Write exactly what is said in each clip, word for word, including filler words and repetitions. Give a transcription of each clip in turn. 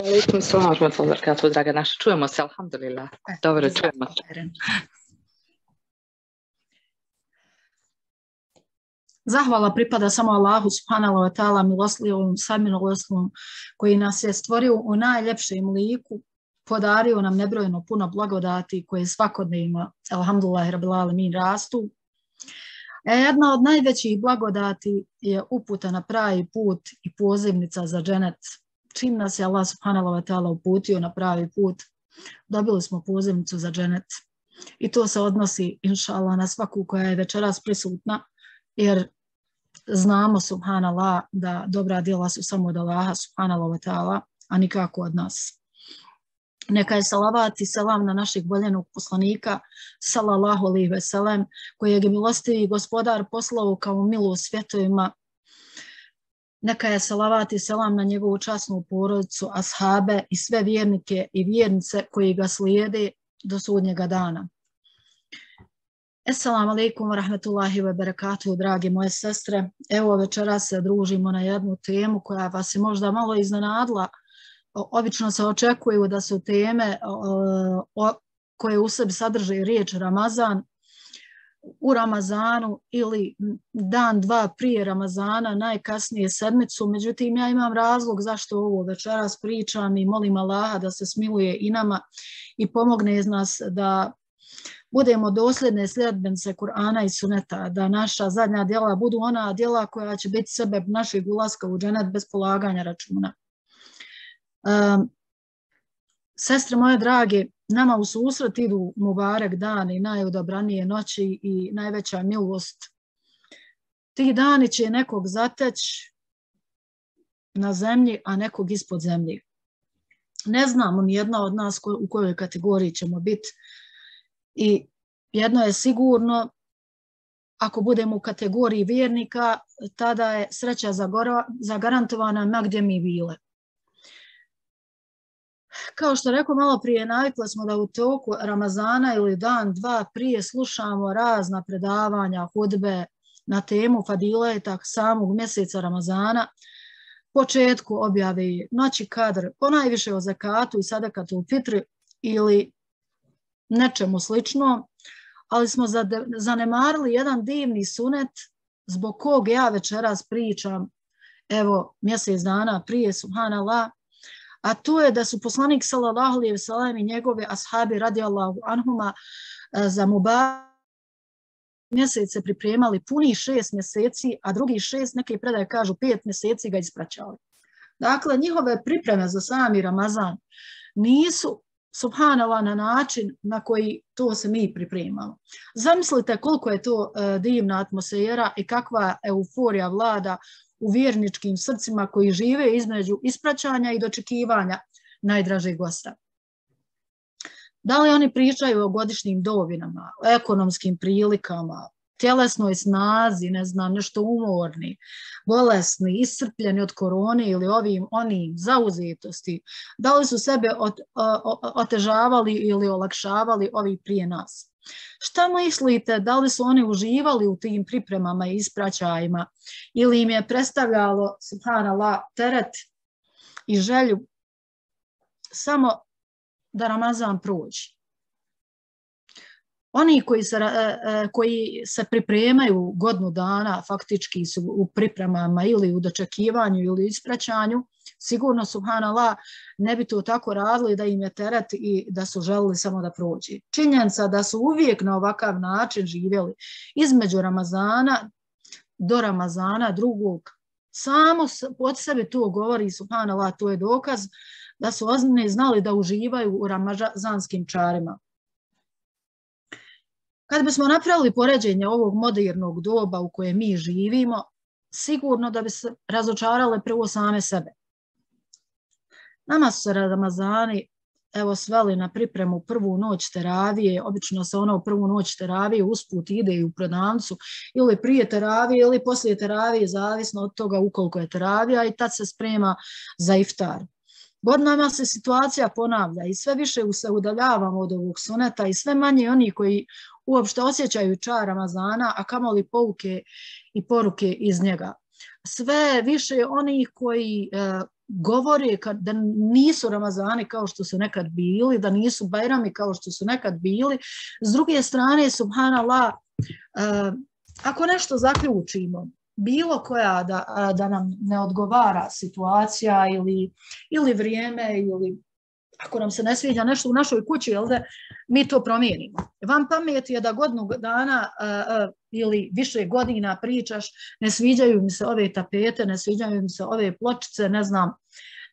Alaikum salam wa rahmatullahi wa barakatuh, draga naša. Čujemo se, alhamdulillah. Dobro, čujemo se. Zahvala pripada samo Allahu subhanahu wa ta'ala, miloslivom, samiloslivom, koji nas je stvorio u najljepšem liku, podario nam nebrojeno puno blagodati koje svakodnevno, alhamdulillah rabbil alamin, rastu. E, jedna od najvećih blagodati je uputa na pravi put i pozivnica za dženet. Čim nas je Allah subhanahu wa ta'ala uputio na pravi put, dobili smo pozivnicu za dženet. I to se odnosi, inša Allah, na svaku koja je večeras prisutna, jer znamo, subhanallah, da dobra djela su samo od Allaha subhanahu wa ta'ala, a nikako od nas. Neka je salavat i selam na našeg voljenog poslanika, sallallahu alejhi ve sellem, kojeg je milostivi gospodar poslao kao milost svjetovima. Neka je salavat i selam na njegovu časnu porodicu, ashabe i sve vjernike i vjernice koji ga slijede do sudnjega dana. Assalamu alaikum wa rahmatullahi wa barakatuhu, drage moje sestre. Evo večeras se družimo na jednu temu koja vas je možda malo iznenadila. Obično se očekuju da su teme o, o, koje u sebi sadrže riječ Ramazan, u Ramazanu ili dan, dva prije Ramazana, najkasnije sedmicu. Međutim, ja imam razlog zašto ovo večeras pričam i molim Allaha da se smiluje i nama i pomogne nas da budemo dosljedne sljedbenice Kur'ana i Suneta, da naša zadnja djela budu ona djela koja će biti sebe našeg ulaska u dženet bez polaganja računa. Um, sestre moje drage, nama u susret idu Mubarek dani, najodabranije noći i najveća milost. Ti dani će nekog zateći na zemlji, a nekog ispod zemlji. Ne znamo ni jedna od nas ko, u kojoj kategoriji ćemo biti. I jedno je sigurno, ako budemo u kategoriji vjernika, tada je sreća zagarantovana ma gdje mi bile. Kao što rekao malo prije, navikli smo da u toku Ramazana ili dan, dva prije slušamo razna predavanja, hudbe na temu fadileta samog mjeseca Ramazana, početku objave noći kadr, ponajviše o zakatu i sadakatul fitri ili nečemu slično, ali smo zanemarili jedan divni sunet zbog kog ja večeras pričam, evo mjesec dana prije, subhanallah, a to je da su poslanik sallallahu alejhi ve sellem i njegove ashabi radijallahu anhuma za Mubarek mjesece pripremali puni šest mjeseci, a drugi šest, neke predaje kažu pet mjeseci ga ispraćali. Dakle, njihove pripreme za sami Ramazan nisu, subhanallah, na način na koji to se mi pripremamo. Zamislite koliko je to uh, divna atmosfera i kakva euforija vlada u vjerničkim srcima koji žive između ispraćanja i dočekivanja najdražeg gosta. Da li oni pričaju o godišnjim dovinama, o ekonomskim prilikama, tjelesnoj snazi, ne znam, nešto umorni, bolesni, iscrpljeni od korone ili ovim, onim, zauzetosti, da li su sebe ot, o, otežavali ili olakšavali ovi prije nas? Šta mislite, da li su oni uživali u tim pripremama i ispraćajima ili im je predstavljalo, subhanallah, teret i želju samo da Ramazan prođe? Oni koji se, koji se pripremaju godinu dana, faktički su u pripremama ili u dočekivanju ili ispraćanju, sigurno, subhanallah, ne bi to tako radili da im je teret i da su želili samo da prođe. Činjenica da su uvijek na ovakav način živjeli između Ramazana do Ramazana drugog, samo od sebe to govori, subhanallah, to je dokaz da su ozbiljno znali da uživaju u ramazanskim čarima. Kad bismo napravili poređenje ovog modernog doba u kojem mi živimo, sigurno da bi se razočarale prvo same sebe. Nama su se Ramazani evo sveli na pripremu prvu noć teravije, obično se ono prvu noć teravije usput ide i u prodavnicu ili prije teravije ili poslije teravije, zavisno od toga ukoliko je teravija, i tad se sprema za iftar. Godinama se situacija ponavlja i sve više se udaljavamo od ovog suneta i sve manje oni koji uopšte osjećaju čar Ramazana, a kamoli pouke i poruke iz njega. sve više onih koji govore da nisu Ramazani kao što su nekad bili, da nisu Bajrami kao što su nekad bili. S druge strane, subhanallah, ako nešto zaključimo, bilo koja da, da nam ne odgovara situacija ili, ili vrijeme ili ako nam se ne sviđa nešto u našoj kući, jel da mi to promijenimo. Vam pamet je da godinu dana uh, uh, ili više godina pričaš, ne sviđaju mi se ove tapete, ne sviđaju mi se ove pločice, ne znam,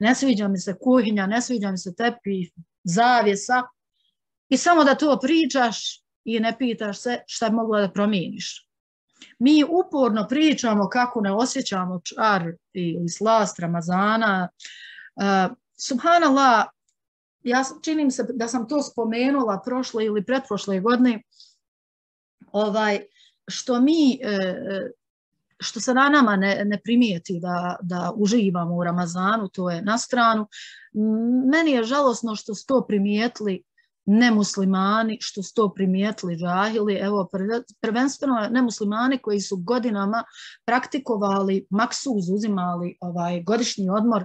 ne sviđa mi se kuhinja, ne sviđa mi se tepih, zavjesa i samo da to pričaš i ne pitaš se šta je mogla da promijeniš. Mi uporno pričamo kako ne osjećamo čar ili slast Ramazana. Uh, subhanallah, ja činim se da sam to spomenula prošle ili pretprošle godine, ovaj, što mi, što se na nama ne, ne primijeti da, da uživamo u Ramazanu, to je na stranu. Meni je žalosno što su to primijetili nemuslimani, što su to primijetili džahili, evo prvenstveno nemuslimani koji su godinama praktikovali maksuz, uzimali ovaj godišnji odmor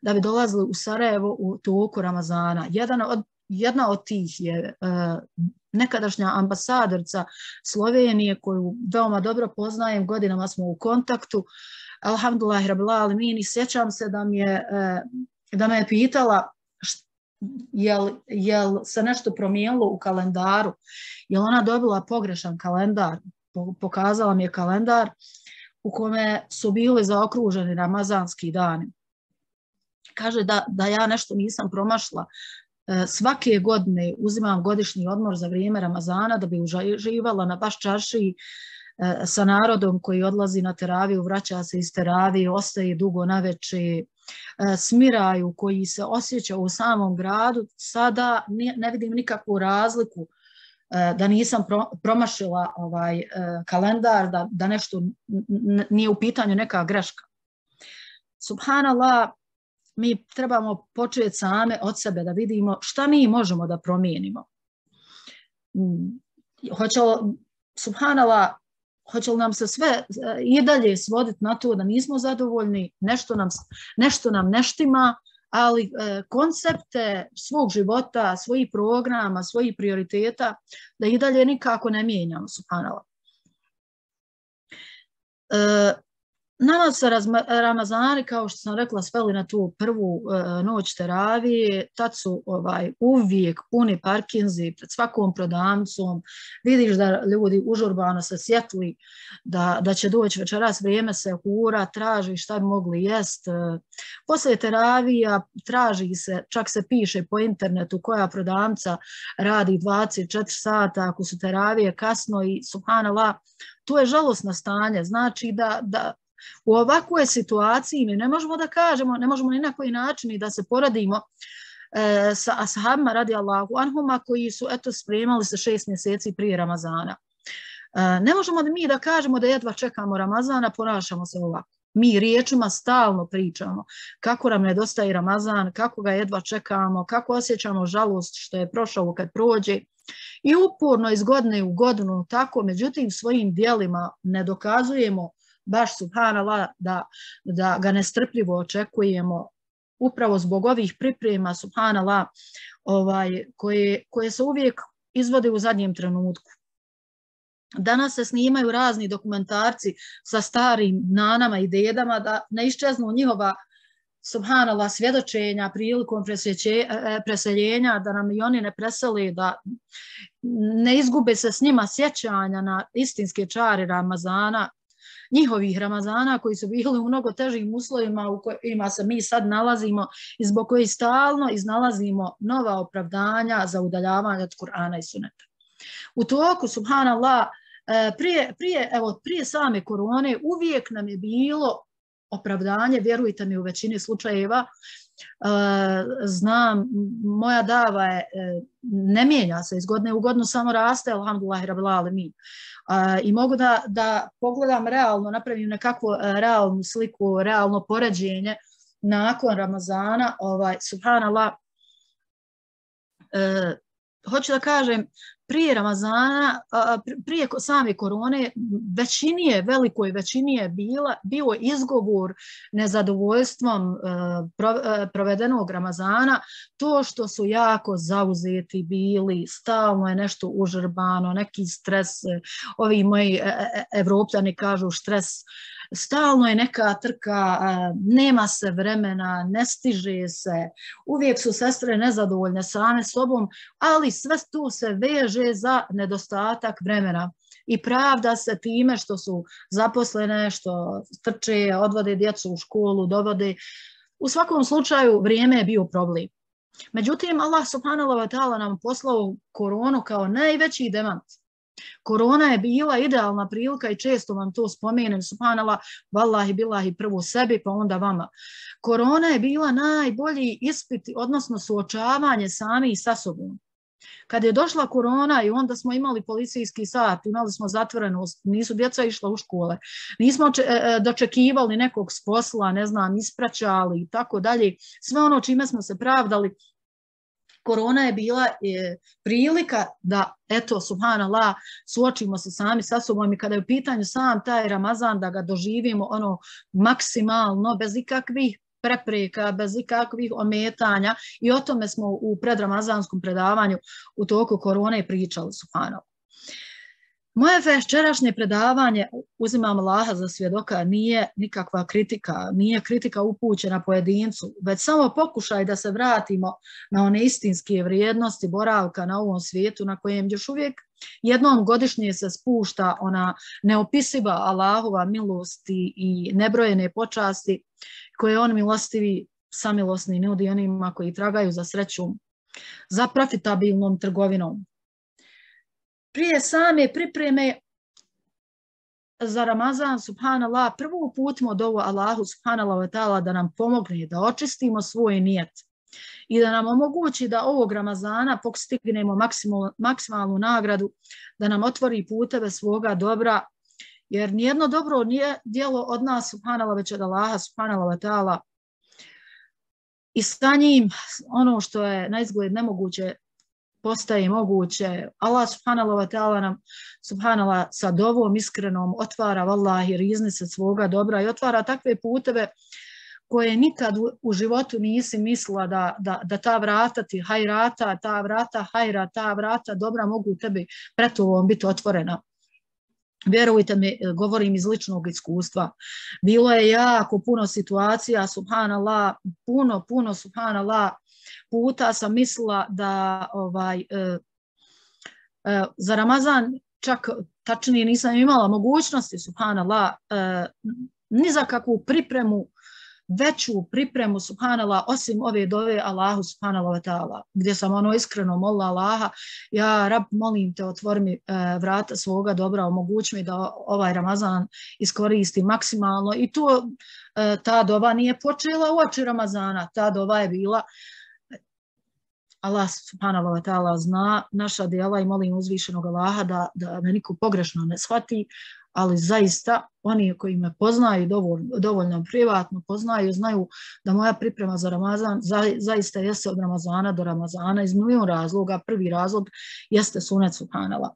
da bi dolazili u Sarajevo u toku Ramazana. Jedan od, jedna od tih je uh, nekadašnja ambasadorca Slovenije koju veoma dobro poznajem, godinama smo u kontaktu. Alhamdulillah rabbil alemin, i sjećam se da, mi je, uh, da me je pitala jel, jel se nešto promijenilo u kalendaru, jel ona dobila pogrešan kalendar. Pokazala mi je kalendar u kome su bili zaokruženi ramazanski dani. Kaže da, da ja nešto nisam promašla. Svake godine uzimam godišnji odmor za vrijeme Ramazana da bi uživala na baš čaršiji sa narodom koji odlazi na teraviju, vraća se iz teravije, ostaje dugo naveče, smiraju koji se osjeća u samom gradu. Sada ne, ne vidim nikakvu razliku da nisam pro, promašila ovaj kalendar, da, da nešto nije u pitanju neka greška. Subhanallah, mi trebamo početi same od sebe da vidimo šta mi možemo da promijenimo. Hoće li, subhanallah, hoće li nam se sve i dalje svoditi na to da nismo zadovoljni, nešto nam, nešto nam ne štima, ali e, koncepte svog života, svojih programa, svojih prioriteta, da i dalje nikako ne mijenjamo, subhanallah. E, Nama se Ramazani, kao što sam rekla, sveli na tu prvu uh, noć teravije, tad su ovaj, uvijek puni parkinzi pred svakom prodavnicom, vidiš da ljudi užurbano se sjetli da, da će doći večeras, vrijeme se hura, traži šta bi mogli jest. Poslije teravija traži se, čak se piše po internetu koja prodavnica radi dvadeset četiri sata, ako su teravije kasno i subhanallah, to je žalosno stanje, znači da, da u ovakvoj situaciji mi ne možemo da kažemo, ne možemo ni na koji način da se poradimo e, sa ashabima radijallahu anhuma koji su eto spremali se šest mjeseci prije Ramazana. E, ne možemo da mi da kažemo da jedva čekamo Ramazana, ponašamo se ovako. Mi riječima stalno pričamo kako nam nedostaje Ramazan, kako ga jedva čekamo, kako osjećamo žalost što je prošao kad prođe. I uporno iz godine u godinu tako, međutim svojim dijelima ne dokazujemo baš subhanallah da, da ga nestrpljivo očekujemo upravo zbog ovih priprema subhanallah ovaj, koje, koje se uvijek izvode u zadnjem trenutku. Danas se snimaju razni dokumentarci sa starim nanama i dedama da ne iščeznu njihova subhanallah svjedočenja prilikom preseljenja, da nam i oni ne preseli, da ne izgube se s njima sjećanja na istinske čari Ramazana, njihovih Ramazana koji su bili u mnogo težim uslovima u kojima se mi sad nalazimo i zbog kojih stalno iznalazimo nova opravdanja za udaljavanje od Kur'ana i Suneta. U toku, subhanallah, prije, prije, evo, prije same korone uvijek nam je bilo opravdanje, vjerujte mi u većini slučajeva, znam, moja dava je, ne mijenja se iz godine u godinu, samo raste, alhamdulillah rabbil alemin. I mogu da, da pogledam realno, napravim nekakvu realnu sliku, realno poređenje nakon Ramazana, ovaj, subhanallah, hoću da kažem, prije Ramazana, prije same korone, većini je, velikoj većini je bila, bio izgovor nezadovoljstvom provedenog Ramazana, to što su jako zauzeti bili, stalno je nešto užrbano, neki stres, ovi moji Evropljani kažu stres, stalno je neka trka, nema se vremena, ne stiže se, uvijek su sestre nezadovoljne same sobom, ali sve tu se veže za nedostatak vremena i pravda se time što su zaposlene, što trče, odvode djecu u školu, dovode. U svakom slučaju vrijeme je bio problem. Međutim, Allah subhanahu wa ta'ala nam poslao koronu kao najveći demant. Korona je bila idealna prilika i često vam to spomenem, subhanallah, vallahi billahi, prvo sebi pa onda vama. Korona je bila najbolji ispit, odnosno suočavanje sami sa sobom. Kad je došla korona i onda smo imali policijski sat, imali smo zatvorenost, nisu djeca išla u škole, nismo dočekivali nekog s posla, ne znam, ispraćali i tako dalje, sve ono čime smo se pravdali. Korona je bila je, prilika da, eto, subhanallah, suočimo se sami sa sobom i kada je u pitanju sam taj Ramazan, da ga doživimo ono maksimalno, bez ikakvih prepreka, bez ikakvih ometanja i o tome smo u predramazanskom predavanju u toku korone pričali, subhanallah. Moje večerašnje predavanje, uzimam Allaha za svjedoka, nije nikakva kritika, nije kritika upućena pojedincu, već samo pokušaj da se vratimo na one istinske vrijednosti boravka na ovom svijetu na kojem još uvijek jednom godišnje se spušta ona neopisiva Allahova milosti i nebrojene počasti koje on milostivi, samilosni nudi onima koji tragaju za srećom, za profitabilnom trgovinom. Prije same pripreme za Ramazan, subhanallah, prvo uputimo dovu Allahu subhanallah wa ta'ala da nam pomogne, da očistimo svoj nijet i da nam omogući da ovog Ramazana postignemo maksimal, maksimalnu nagradu, da nam otvori puteve svoga dobra, jer nijedno dobro nije djelo od nas, subhanallah, već od Allaha subhanallah wa ta'ala. I sa njim ono što je na izgled nemoguće postaje moguće. Allah subhanallah wa ta'ala nam subhanallah sa dovom iskrenom otvara vallahi riznice svoga dobra i otvara takve puteve koje nikad u, u životu nisi mislila da, da, da ta vrata ti hajrata, ta vrata hajra, ta vrata dobra mogu tebi pred tobom biti otvorena. Vjerujte mi, govorim iz ličnog iskustva. Bilo je jako puno situacija, subhanallah, puno, puno, subhanallah, puta sam mislila da ovaj, e, e, za Ramazan čak tačnije nisam imala mogućnosti, subhanallah, e, ni za kakvu pripremu, veću pripremu, subhanallah, osim ove dove Allahu subhanallah wa ta'ala, gdje sam ono iskreno molila Allaha, ja Rab, molim te, otvori mi e, vrata svoga dobra, omogući mi da ovaj Ramazan iskoristi maksimalno i to e, ta dova nije počela uoči Ramazana, ta dova je bila Allah subhanahu wa ta'ala zna naša djela i molim uzvišenog Allaha da, da me niko pogrešno ne shvati, ali zaista oni koji me poznaju dovoljno, dovoljno privatno poznaju, znaju da moja priprema za Ramazan za, zaista jeste od Ramazana do Ramazana iz milijun razloga. Prvi razlog jeste sunet subhanallah.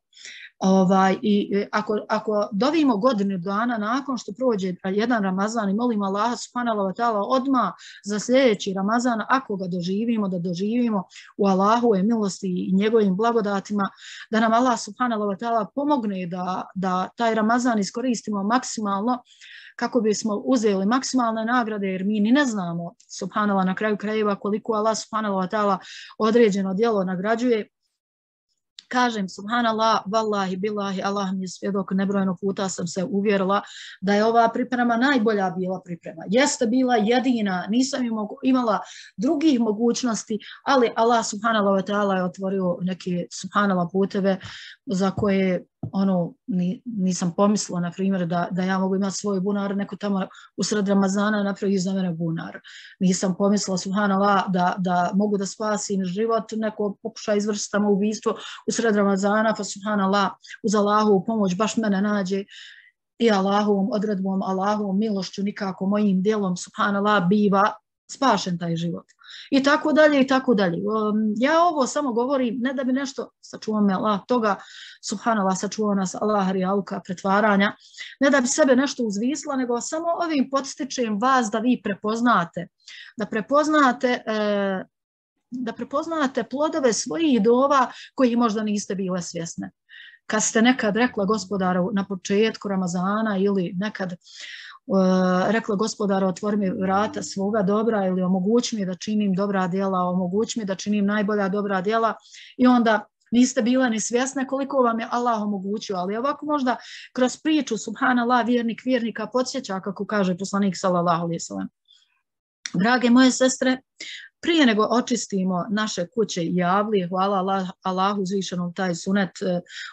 Ovaj, i ako, ako dovimo godinu dana nakon što prođe jedan Ramazan i molim Allaha subhanahu wa ta'ala odmah za sljedeći Ramazan, ako ga doživimo, da doživimo u Allahove milosti i njegovim blagodatima, da nam Allah subhanahu wa ta'ala pomogne da, da taj Ramazan iskoristimo maksimalno kako bismo uzeli maksimalne nagrade, jer mi ni ne znamo subhanallah na kraju krajeva koliko Allah subhanahu wa ta'ala određeno djelo nagrađuje. Kažem, subhanallah, vallahi, billahi, Allah mi je svjedok, nebrojeno puta sam se uvjerila da je ova priprema najbolja bila priprema. Jeste bila jedina, nisam imala drugih mogućnosti, ali Allah subhanallah wa ta'ala je otvorio neke subhanallah puteve za koje ono, ni, nisam pomislila, na primjer, da, da ja mogu imati svoj bunar, neko tamo u sred Ramazana napravi za mene bunar. Nisam pomislila, subhanallah, da, da mogu da spasim život, neko pokuša izvršiti samoubistvo u sred Ramazana, pa subhanallah, uz Allahovu pomoć baš mene nađe i Allahovom odredbom, Allahovom milošću, nikako mojim djelom, subhanallah, biva spašen taj život. i tako dalje i tako dalje. Ja ovo samo govorim ne da bi nešto, sačuva me Allah toga, subhanallah, sačuva nas Allah rijaluka pretvaranja, ne da bi sebe nešto uzvisla, nego samo ovim podstičem vas da vi prepoznate, da prepoznate e, da prepoznate plodove svojih dova koji možda niste bile svjesne. Kad ste nekad rekla gospodaru na početku Ramazana ili nekad uh, rekla gospodaru otvori mi vrata svoga dobra ili omogući mi da činim dobra djela, omogući mi da činim najbolja dobra djela i onda niste bile ni svjesne koliko vam je Allah omogućio, ali ovako možda kroz priču subhanallah vjernik vjernika podsjeća kako kaže poslanik sallallahu alejhi ve sellem. Drage moje sestre, prije nego očistimo naše kuće i javlije, hvala Allah, Allahu uzvišenom taj sunet,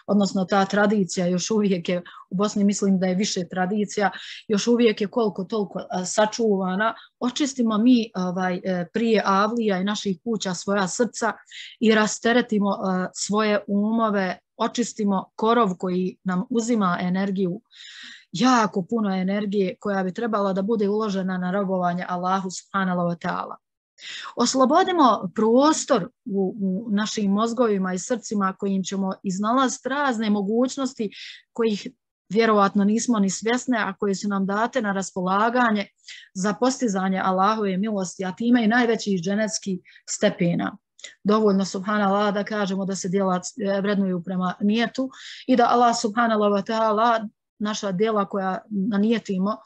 odnosno ta tradicija još uvijek je, u Bosni mislim da je više tradicija, još uvijek je koliko toliko sačuvana, očistimo mi ovaj, prije avlija i naših kuća svoja srca i rasteretimo svoje umove, očistimo korov koji nam uzima energiju, jako puno energije koja bi trebala da bude uložena na robovanje Allahu subhanahu wa ta'ala. Oslobodimo prostor u, u našim mozgovima i srcima kojim ćemo iznalaziti razne mogućnosti kojih vjerovatno nismo ni svjesne, a koje su nam date na raspolaganje za postizanje Allahove milosti, a time i najvećih dženetskih stepena. Dovoljno subhanallah da kažemo da se djela vrednuju prema nijetu i da Allah subhanallah wa ta'ala naša djela koja nanijetimo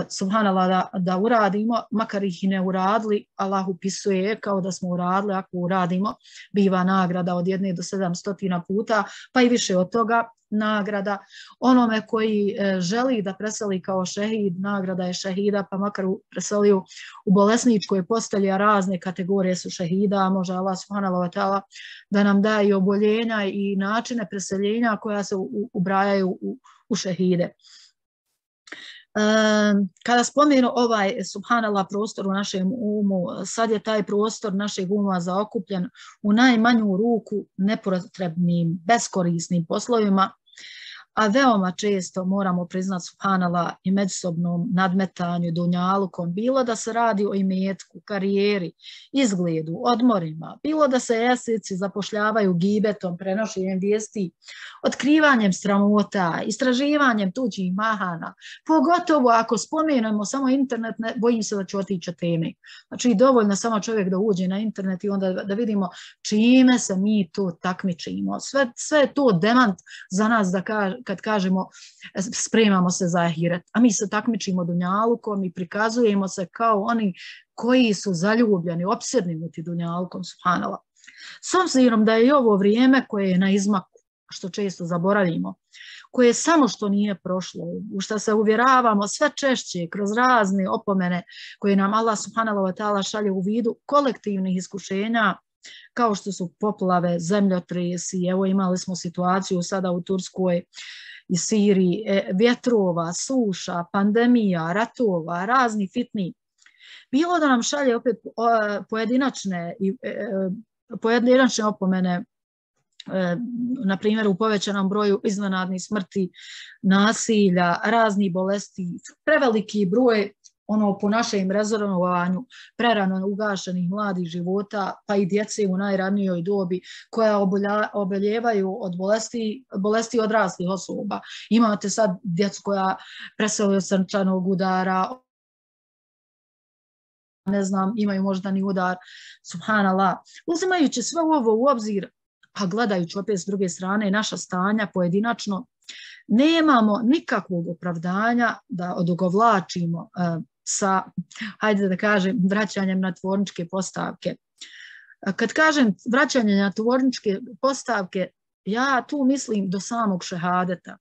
subhanallah da, da uradimo, makar ih i ne uradili, Allah upisuje kao da smo uradili, ako uradimo, biva nagrada od jedne do sedam stotina puta, pa i više od toga nagrada. Onome koji želi da preseli kao šehid, nagrada je šehida, pa makar preselio u bolesničkoj postelji, a razne kategorije su šehida, može Allah subhanahu wa ta'ala da nam da i oboljenja i načine preseljenja koja se ubrajaju u, u šehide. Kada spomenu ovaj subhanallah prostor u našem umu, sad je taj prostor našeg uma zaokupljen u najmanju ruku nepotrebnim, beskorisnim poslovima, a veoma često moramo priznati subhanallah i međusobnom nadmetanju, dunjalukom, bilo da se radi o imetku, karijeri, izgledu, odmorima, bilo da se esnici zapošljavaju gibetom, prenošenjem vijesti, otkrivanjem sramota, istraživanjem tuđih mahana, pogotovo ako spomenemo samo internet, ne, bojim se da ću otići teme. Znači dovoljno samo čovjek da uđe na internet i onda da vidimo čime se mi to takmičimo. Sve, sve je to demant za nas da kaže, kad kažemo spremamo se za ahiret, a mi se takmičimo dunjalukom i prikazujemo se kao oni koji su zaljubljeni, opsjednuti dunjalukom, subhanallah. S obzirom da je i ovo vrijeme koje je na izmaku, što često zaboravimo, koje samo što nije prošlo, u što se uvjeravamo sve češće kroz razne opomene koje nam Allah subhanahu wa ta'ala šalje u vidu kolektivnih iskušenja, kao što su poplave, zemljotresi, evo imali smo situaciju sada u Turskoj i Siriji, vjetrova, suša, pandemija, ratova, razni fitni. Bilo da nam šalje opet pojedinačne, pojedinačne opomene, na primjer u povećanom broju iznenadnih smrti, nasilja, raznih bolesti, preveliki broj ono po našem rezonovanju prerano ugašenih mladih života, pa i djece u najranijoj dobi koja oboljevaju od bolesti, bolesti odraslih osoba. Imate sad djecu koja presele od srčanog udara, ne znam, imaju moždani udar, subhanallah. Uzimajući sve ovo u obzir, a gledajući opet s druge strane naša stanja pojedinačno, nemamo nikakvog opravdanja da odugovlačimo uh, sa, hajde da kažem, vraćanjem na tvorničke postavke. Kad kažem vraćanje na tvorničke postavke, ja tu mislim do samog šehadeta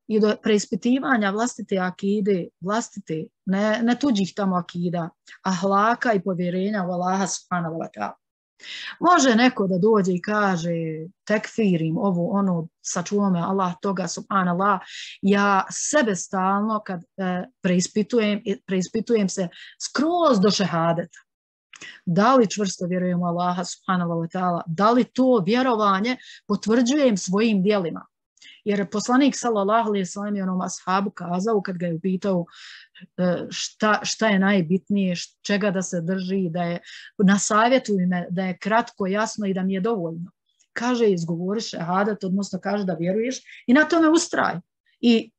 i do preispitivanja vlastite akide, vlastite, ne, ne tuđih tamo akida, ahlaka i povjerenja u Allaha subhanahu wa ta'ala. Može neko da dođe i kaže tekfirim ovo, ono, sačuva me Allah toga, subhanallah, ja sebe stalno kad e, preispitujem, preispitujem se skroz do šehadeta. Da li čvrsto vjerujem u Allaha subhanahu wa ta'ala, da li to vjerovanje potvrđujem svojim djelima. Jer poslanik sallallahu alejhi ve sellem je onom ashabu kazao kad ga je upitao šta, šta je najbitnije, čega da se drži, da je na savjetu da je kratko, jasno i da mi je dovoljno. Kaže, izgovori šehadat, odnosno kaže da vjeruješ i na tome ustraj. I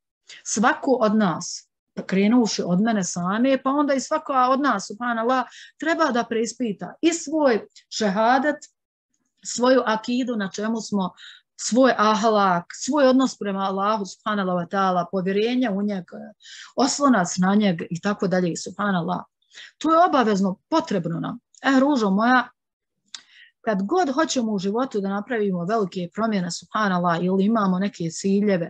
svako od nas, krenuši od mene same, pa onda i svako od nas, subhanallah, treba da preispita i svoj šehadat, svoju akidu na čemu smo, svoj ahlak, svoj odnos prema Allahu, subhanallah wa ta'ala, povjerenje u njega, oslonac na njega i tako dalje, subhanallah. To je obavezno, potrebno nam. E, ružo moja, kad god hoćemo u životu da napravimo velike promjene, subhanallah, ili imamo neke ciljeve,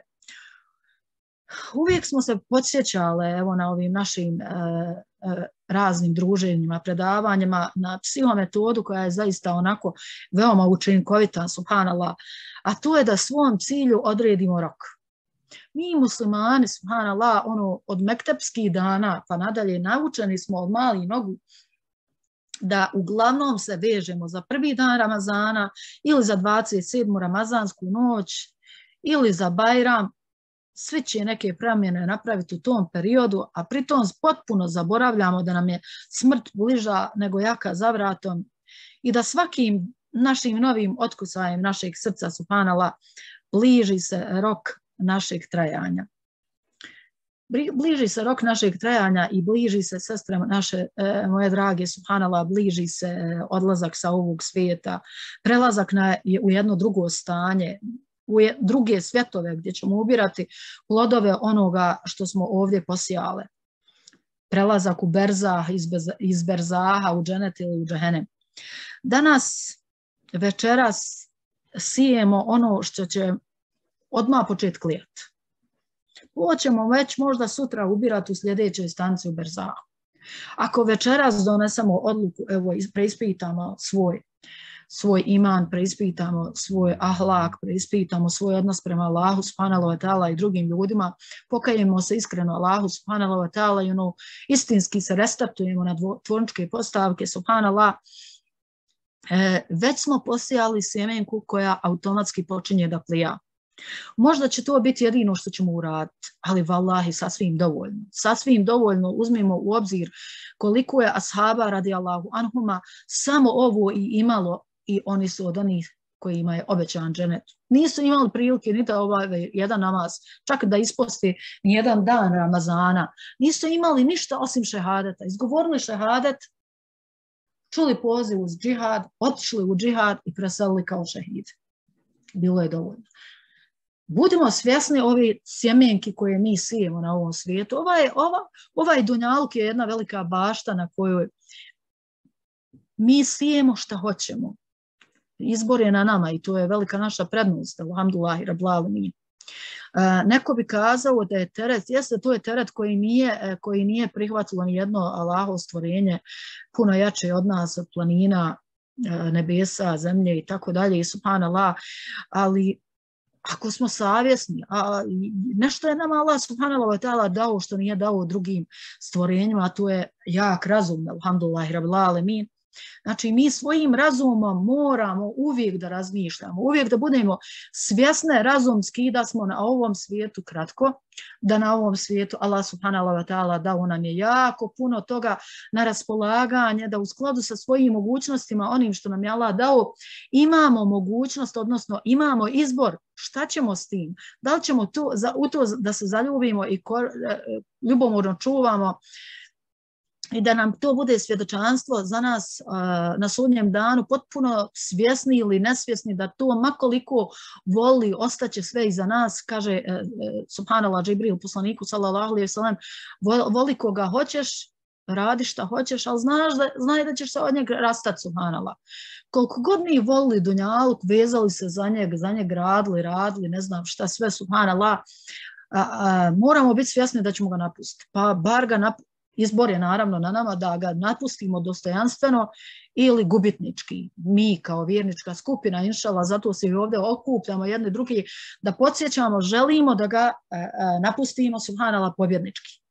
uvijek smo se podsjećale evo, na ovim našim e, e, raznim druženjima, predavanjima, na psihometodu koja je zaista onako veoma učinkovita, subhanallah, a to je da svom cilju odredimo rok. Mi muslimani, subhanallah, ono, od mektepskih dana pa nadalje naučeni smo od malih nogu da uglavnom se vežemo za prvi dan Ramazana ili za dvadeset sedmu ramazansku noć ili za Bajram. Svi će neke promjene napraviti u tom periodu, a pritom potpuno zaboravljamo da nam je smrt bliža nego jaka za vratom i da svakim našim novim otkucajem našeg srca, subhanallah, bliži se rok našeg trajanja. Bliži se rok našeg trajanja i bliži se, sestre naše, e, moje drage, subhanallah, bliži se odlazak sa ovog svijeta, prelazak na, u jedno drugo stanje, u druge svjetove gdje ćemo ubirati plodove onoga što smo ovdje posijale. Prelazak u berzah, iz, iz berzaha u dženet ili u džehenem. Danas, večeras, sijemo ono što će odmah početi klijati. Ovo ćemo već možda sutra ubirati u sljedećoj stanci u berzahu. Ako večeras donesemo odluku, evo, preispitamo svoj svoj iman, preispitamo svoj ahlak, preispitamo svoj odnos prema Allahu subhanahu wa ta'ala i drugim ljudima, pokajemo se iskreno Allahu subhanahu wa ta'ala i ono, istinski se restartujemo na tvorničke postavke, subhanallah, e, već smo posijali sjemenku koja automatski počinje da plija. Možda će to biti jedino što ćemo uraditi, ali vallahi sasvim dovoljno. Sasvim dovoljno uzmimo u obzir koliko je ashaba radijallahu anhuma samo ovo i imalo i oni su od onih kojima je obećan dženet. Nisu imali prilike ni da obave jedan namaz, čak da isposti ni jedan dan Ramazana. Nisu imali ništa osim šehadeta. Izgovorili šehadet, čuli poziv uz džihad, otišli u džihad i preselili kao šehid. Bilo je dovoljno. Budimo svjesni ove sjemenki koje mi sijemo na ovom svijetu. Ovaj, ova, ovaj dunjaluk je jedna velika bašta na kojoj mi sijemo šta hoćemo. Izbor je na nama i to je velika naša prednost. Alhamdulillahi rabbil alamin. Neko bi kazao da je teret, jeste to je teret koji nije, koji nije prihvatilo ni jedno Allahovo stvorenje puno jače od nas, od planina, nebesa, zemlje i tako dalje, i subhanallah, ali ako smo savjesni, a nešto je nama Allah subhanahu wa ta'ala dao što nije dao drugim stvorenjima, a to je jak razum, alhamdulillahi rabbil alamin. Znači, mi svojim razumom moramo uvijek da razmišljamo, uvijek da budemo svjesne razumski da smo na ovom svijetu kratko, da na ovom svijetu Allah subhanahu wa ta'ala dao nam je jako puno toga na raspolaganje, da u skladu sa svojim mogućnostima, onim što nam je Allah dao, imamo mogućnost, odnosno imamo izbor šta ćemo s tim. Da li ćemo to, za, u to da se zaljubimo i kor, ljubomorno čuvamo, i da nam to bude svjedočanstvo za nas uh, na sudnjem danu, potpuno svjesni ili nesvjesni da to makoliko voli, ostaće sve iza nas, kaže uh, subhanallah Džibril poslaniku sallallahu alejhi ve sellem, voli koga hoćeš, radi šta hoćeš, ali znaš da, znaj da ćeš se od njega rastati, subhanallah. Koliko god mi volili dunjaluk, vezali se za njeg, za njeg radili, radili, ne znam šta sve, subhanallah, a, a, moramo biti svjesni da ćemo ga napustiti. Pa bar ga napustiti. Izbor je naravno na nama da ga napustimo dostojanstveno ili gubitnički. Mi kao vjernička skupina, inšallah, zato se i ovdje okupljamo jedni drugi, da podsjećamo, želimo da ga e, napustimo, subhanallah, pobjednički.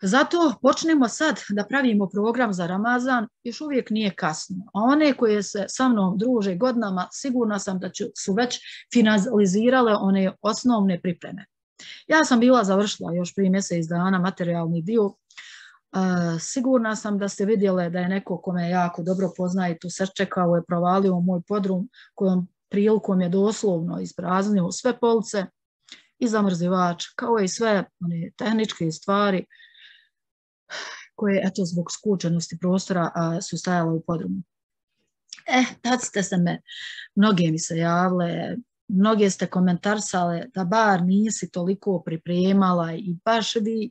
Zato počnemo sad da pravimo program za Ramazan, još uvijek nije kasno. A one koje se sa mnom druže godinama, sigurna sam da su već finalizirale one osnovne pripreme. Ja sam bila završila još prije mjesec dana materijalni dio. Uh, sigurna sam da ste vidjeli da je neko kome jako dobro poznaje tu sačekao je provalio moj podrum kojom prilikom je doslovno ispraznio sve police i zamrzivač, kao i sve one tehničke stvari koje, eto, zbog skučenosti prostora a, su stajale u podrumu. E, tad ste se me, mnoge mi se javile, mnoge ste komentarsale da bar nisi toliko pripremala i baš vi,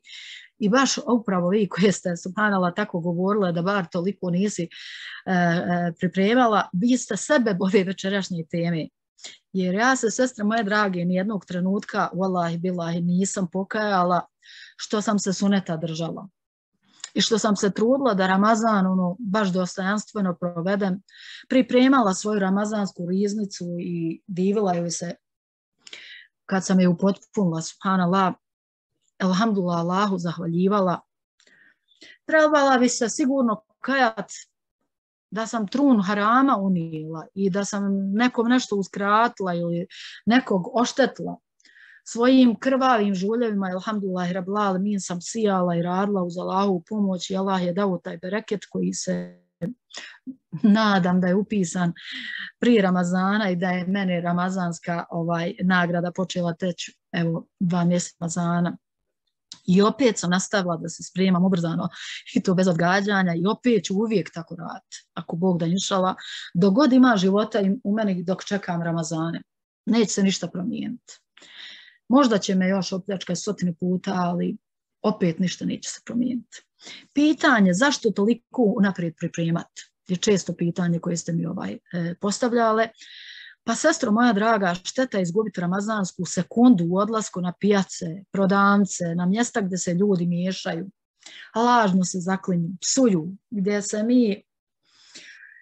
i baš upravo vi koje ste, subhanallah, tako govorile da bar toliko nisi e, e, pripremala, vi ste sebe ove večerašnje teme. Jer ja se, sestre moje drage, nijednog trenutka, wallahi billahi, nisam pokajala što sam se suneta držala. I što sam se trudila da Ramazan ono, baš dostojanstveno provedem, pripremala svoju ramazansku riznicu i divila joj se kad sam je upotpunila, subhanallah, elhamdulillah, Allahu zahvaljivala. Trebala bi se sigurno kajat da sam trun harama unijela i da sam nekom nešto uskratila ili nekog oštetila. Svojim krvavim žuljevima, elhamdulillah, rabbil alemin, sam sijala i radila uz Allahovu pomoć i Allah je dao taj bereket koji se nadam da je upisan prije Ramazana i da je mene ramazanska ovaj, nagrada počela teći evo dva mjeseca Ramazana. I opet sam nastavila da se spremam ubrzano i to bez odgađanja i opet ću uvijek tako raditi. Ako Bog da inšala, dok god ima života u meni dok čekam Ramazane, neće se ništa promijeniti. Možda će me još opljačkati stotine puta, ali opet ništa neće se promijeniti. Pitanje zašto toliko unaprijed pripremati je često pitanje koje ste mi ovaj, e, postavljale. Pa sestro moja draga, šteta je izgubiti ramazansku sekundu u odlasku na pijace, prodavnice, na mjesta gdje se ljudi miješaju, lažno se zaklinju, psuju, gdje se mi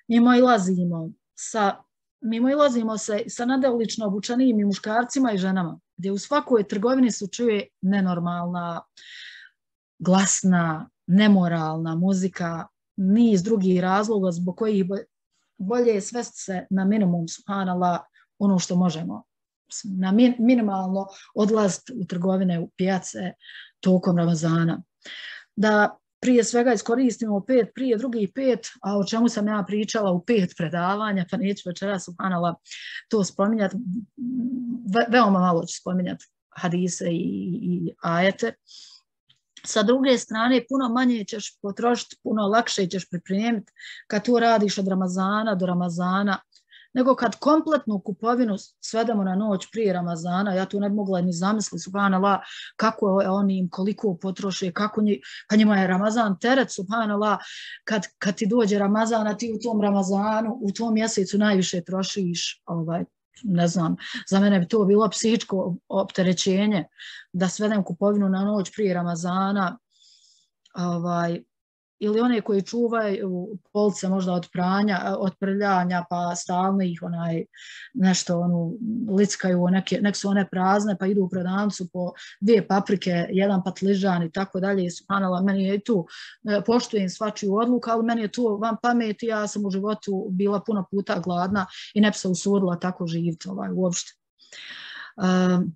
mimo ilazimo sa, mimo ilazimo se sa nadelično obučanim i muškarcima i ženama, gdje u svakoj trgovini se čuje nenormalna, glasna, nemoralna muzika, niz drugih razloga zbog kojih bolje je svesti se na minimum, subhanallah, ono što možemo. Na min, minimalno odlaziti u trgovine, u pijace tokom Ramazana. Da prije svega iskoristimo pet, prije drugih pet, a o čemu sam ja pričala u pet predavanja, pa neću večera, subhanallah, to spominjati. Ve, veoma malo ću spominjati hadise i, i ajete. Sa druge strane, puno manje ćeš potrošiti, puno lakše ćeš pripremiti kad to radiš od Ramazana do Ramazana, nego kad kompletnu kupovinu svedemo na noć prije Ramazana, ja tu ne bi mogla ni zamisliti, subhanallah, kako oni im koliko potroše, kako nji, pa njima je Ramazan teret, subhanallah, kad, kad ti dođe Ramazan, a ti u tom Ramazanu, u tom mjesecu najviše trošiš, ovaj, ne znam, za mene bi to bilo psihičko opterećenje da svedem kupovinu na noć prije Ramazana, ovaj, ili one koji čuvaju police možda od pranja, od prljanja, pa stalno ih onaj nešto onu lickaju, neke, nek su one prazne, pa idu u prodavnicu po dvije paprike, jedan patližan i tako dalje. Subhanallah, meni je tu, poštujem svačiju odluku, ali meni je to van pameti, ja sam u životu bila puno puta gladna i ne bi se usudila tako živjeti ovaj, uopšte. Um,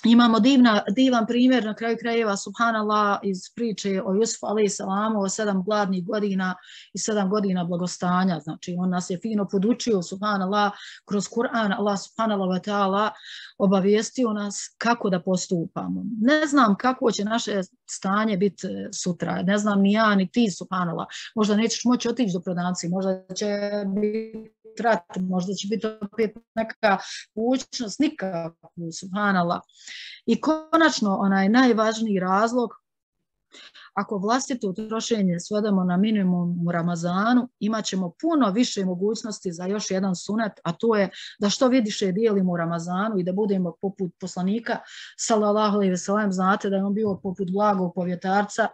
Imamo divna, divan primjer na kraju krajeva, subhanallah, iz priče o Jusufu alejhi salamu, o sedam gladnih godina i sedam godina blagostanja. Znači, on nas je fino podučio, subhanallah, kroz Kur'an, Allah subhanallah wa ta'ala obavijestio nas kako da postupamo. Ne znam kako će naše stanje biti sutra, ne znam ni ja, ni ti, subhanallah. Možda nećeš moći otići do prodavnice, možda će biti rat, možda će biti opet neka mogućnost, nikako, subhanallah. I konačno, onaj najvažniji razlog, ako vlastito trošenje svedemo na minimum u Ramazanu, imat ćemo puno više mogućnosti za još jedan sunet, a to je da što vidiše dijelimo u Ramazanu i da budemo poput poslanika, sallallahu alejhi ve sellem, znate da je on bio poput blagog povjetarca,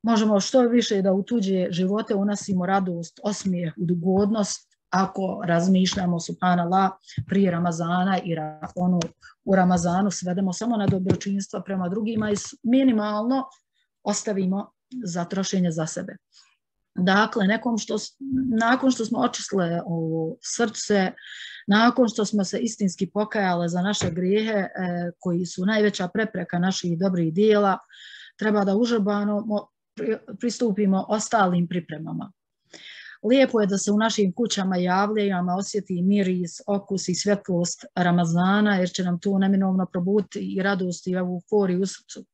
možemo što više da u tuđe živote unosimo radost, osmijeh, ugodnost, ako razmišljamo, subhanallah, prije Ramazana i ono, u Ramazanu svedemo samo na dobročinstva prema drugima i minimalno ostavimo za trošenje za sebe. Dakle, nekom što, nakon što smo očistile ovo srce, nakon što smo se istinski pokajale za naše grijehe e, koji su najveća prepreka naših dobrih dijela, treba da užurbano pristupimo ostalim pripremama. Lijepo je da se u našim kućama javljama osjeti miris, okus i svjetlost Ramazana, jer će nam to neminovno probuditi i radost i euforiju u srcu.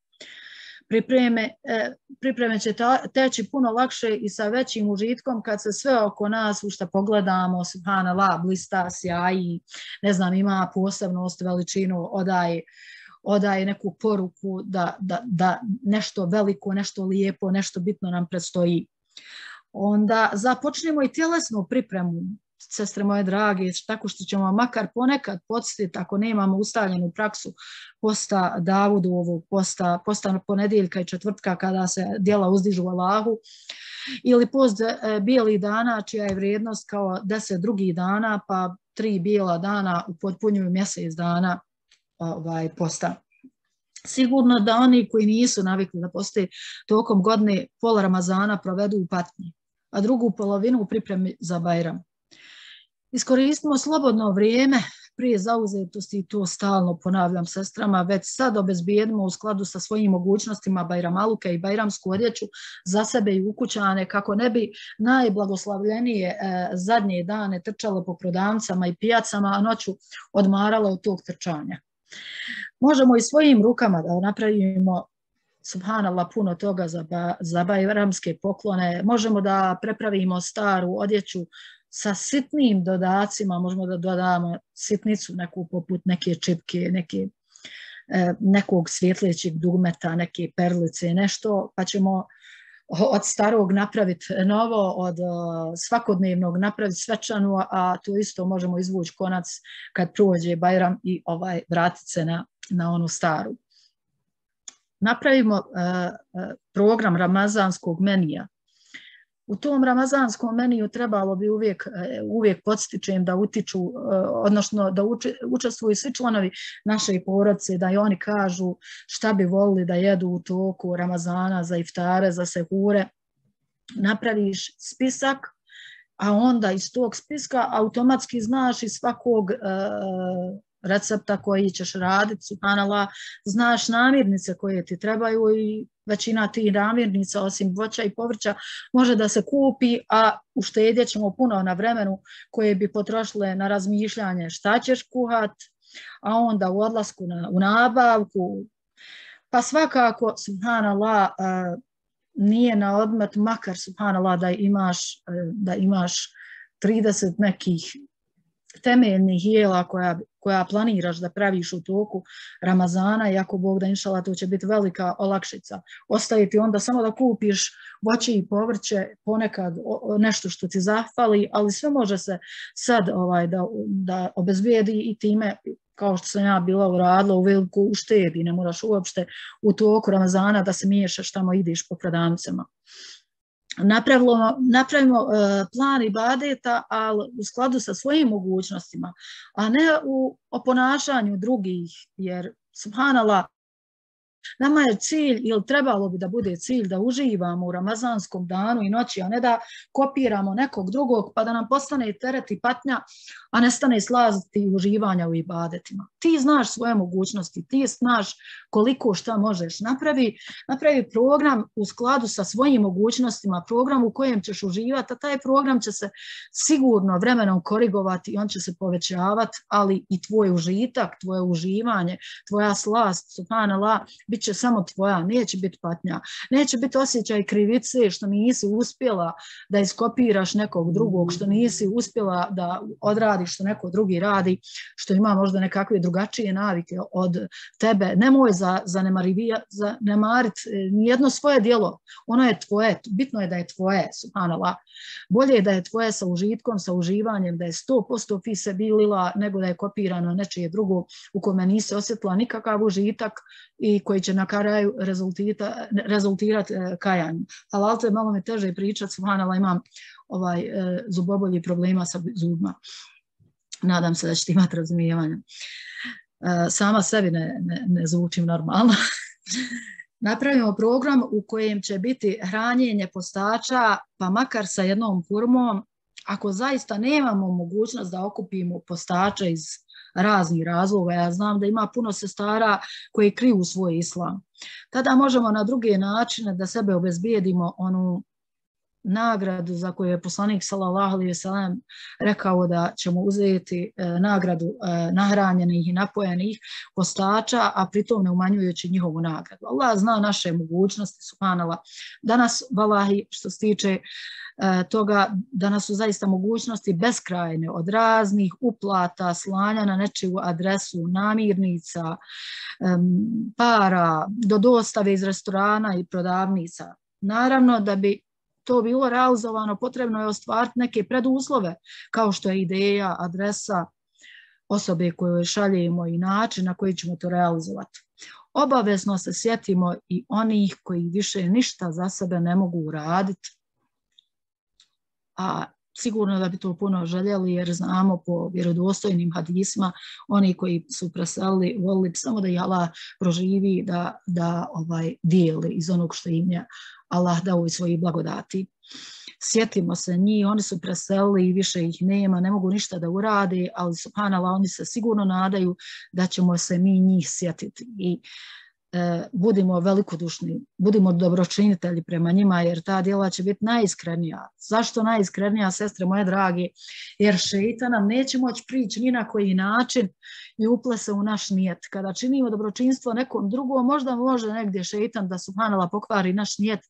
Pripreme, eh, pripreme će ta, teći puno lakše i sa većim užitkom kad se sve oko nas u što pogledamo, subhanallah, blista, sjaji, ne znam, ima posebnost, veličinu, odaj, odaj neku poruku da, da, da nešto veliko, nešto lijepo, nešto bitno nam predstoji. Onda započnemo i tjelesnu pripremu, sestre moje drage, tako što ćemo makar ponekad podsjetiti, ako nemamo ustaljenu praksu posta Davudovog, posta, posta ponedjeljka i četvrtka kada se djela uzdižu Allahu, ili post e, bijelih dana čija je vrijednost kao deset drugih dana, pa tri bijela dana upotpunjuju mjesec dana ovaj, posta. Sigurno da oni koji nisu navikli da postoje tokom godine pola Ramazana provedu u patnji, a drugu polovinu u pripremi za Bajram. Iskoristimo slobodno vrijeme prije zauzetosti, i to stalno ponavljam sestrama, već sad obezbijedimo u skladu sa svojim mogućnostima bajramaluke i bajramsku odjeću za sebe i ukućane, kako ne bi najblagoslavljenije e, zadnje dane trčale po prodavnicama i pijacama, a noću odmarale od tog trčanja. Možemo i svojim rukama da napravimo, subhanallah, puno toga za, ba, za bajramske poklone, možemo da prepravimo staru odjeću sa sitnim dodacima, možemo da dodamo sitnicu neku poput neke čipke, neke, e, nekog svjetlećeg dugmeta, neke perlice, nešto, pa ćemo od starog napraviti novo, od uh, svakodnevnog napraviti svečanu, a to isto možemo izvući konac kad prođe Bajram i ovaj, vratiti se na, na onu staru. Napravimo uh, program ramazanskog menija. U tom ramazanskom meniju trebalo bi uvijek, uvijek podstičem da utiču, odnosno da uči, učestvuju svi članovi naše porodice, da i oni kažu šta bi volili da jedu u toku Ramazana, za iftare, za sehure. Napraviš spisak, a onda iz tog spiska automatski znaš iz svakog uh, recepta koji ćeš raditi, subhanallah, znaš namirnice koje ti trebaju i većina tih namirnica, osim voća i povrća, može da se kupi, a uštedjet ćemo puno na vremenu koje bi potrošile na razmišljanje šta ćeš kuhat, a onda u odlasku na, u nabavku. Pa svakako, subhanallah, nije na odmet, makar, subhanallah, da imaš, da imaš trideset nekih temeljnih jela koja, koja planiraš da praviš u toku Ramazana, i ako Bog da inšala, to će biti velika olakšica. Ostaje ti onda samo da kupiš voće i povrće, ponekad nešto što ti zahvali, ali sve može se sad ovaj, da, da obezbijedi i time, kao što sam ja bila uradila, u veliku uštedi, ne moraš uopšte u toku Ramazana da se miješaš tamo, ideš po prodavnicama. Napravimo, napravimo uh, plan ibadeta, ali u skladu sa svojim mogućnostima, a ne u oponašanju drugih, jer, subhanallah, nama je cilj, ili trebalo bi da bude cilj, da uživamo u ramazanskom danu i noći, a ne da kopiramo nekog drugog, pa da nam postane teret i patnja, a ne stane slaziti uživanja u ibadetima. Ti znaš svoje mogućnosti, ti znaš koliko šta možeš. Napravi, napravi program u skladu sa svojim mogućnostima, program u kojem ćeš uživati, a taj program će se sigurno vremenom korigovati i on će se povećavati, ali i tvoj užitak, tvoje uživanje, tvoja slast, subhanallah, bit će samo tvoja, neće biti patnja, neće biti osjećaj krivice što nisi uspjela da iskopiraš nekog drugog, što nisi uspjela da odradiš što neko drugi radi, što ima možda nekakve drugačije navike od tebe. Nemoj za, zanemariti nijedno svoje djelo, ono je tvoje, bitno je da je tvoje, subhanallah. Bolje je da je tvoje sa užitkom, sa uživanjem, da je sto posto fi sebilillah, nego da je kopirano nečije drugo u kome nisi osjetila nikakav užitak i koji će na kraju rezultirati kajanjem. Halal, to je malo mi teže pričati, subhanallah, imam ovaj, e, zubobolji problema sa zubima. Nadam se da ćete imati razumijevanja. E, sama sebi ne, ne, ne zvučim normalno. napravimo program u kojem će biti hranjenje postača, pa makar sa jednom hurmom, ako zaista nemamo mogućnost da okupimo postača iz raznih razloga, ja znam da ima puno sestara koji kriju svoj islam, tada možemo na druge načine da sebe obezbijedimo onu nagradu za koju je poslanik sallallahu alejhi ve sellem rekao da ćemo uzeti e, nagradu e, nahranjenih i napojenih postača, a pritom ne umanjujući njihovu nagradu. Allah zna naše mogućnosti, subhanallah. Danas, vallahi, što se tiče e, toga, danas su zaista mogućnosti beskrajne od raznih uplata, slanja na nečiju adresu, namirnica, e, para, do dostave iz restorana i prodavnica. Naravno, da bi to bilo realizovano, potrebno je ostvariti neke preduslove, kao što je ideja, adresa osobe koju šaljemo i način na koji ćemo to realizovati. Obavezno se sjetimo i onih koji više ništa za sebe ne mogu uraditi, a sigurno da bi to puno željeli, jer znamo po vjerodostojnim hadisma, oni koji su preselili, volili samo da ih Allah proživi, da, da ovaj, dijeli iz onog što im je Allah dao i svojih blagodati. Sjetimo se njih, oni su preselili i više ih nema, ne mogu ništa da urade, ali subhanallah, oni se sigurno nadaju da ćemo se mi njih sjetiti. I e, budimo velikodušni, budimo dobročinitelji prema njima, jer ta djela će biti najiskrenija. Zašto najiskrenija, sestre moje drage? Jer šeitan nam neće moći prići ni na koji način i uple se u naš nijet. Kada činimo dobročinstvo nekom drugom, možda može negdje šeitan da subhanallah pokvari naš nijet,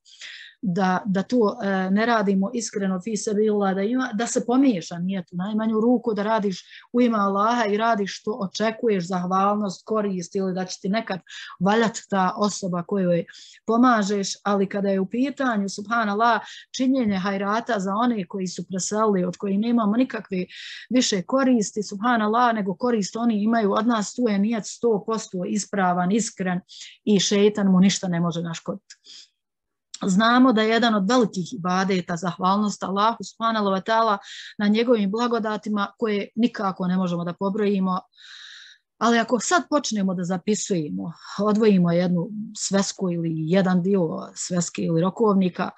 da, da to e, ne radimo iskreno fi sebillah, da, ima, da se pomiješa nijet u najmanju ruku, da radiš u ime Allaha i radiš što očekuješ, zahvalnost, korist ili da će ti nekad valjati ta osoba kojoj pomažeš, ali kada je u pitanju subhanallah činjenje hajrata za one koji su preselili, od kojih nemamo nikakve više koristi, subhanallah, nego korist oni imaju od nas, tu je nijet sto posto ispravan, iskren i šeitan mu ništa ne može naškoditi. Znamo da je jedan od velikih ibadeta zahvalnost Allahu subhanahu wa ta'ala na njegovim blagodatima koje nikako ne možemo da pobrojimo, ali ako sad počnemo da zapisujemo, odvojimo jednu svesku ili jedan dio sveske ili rokovnika,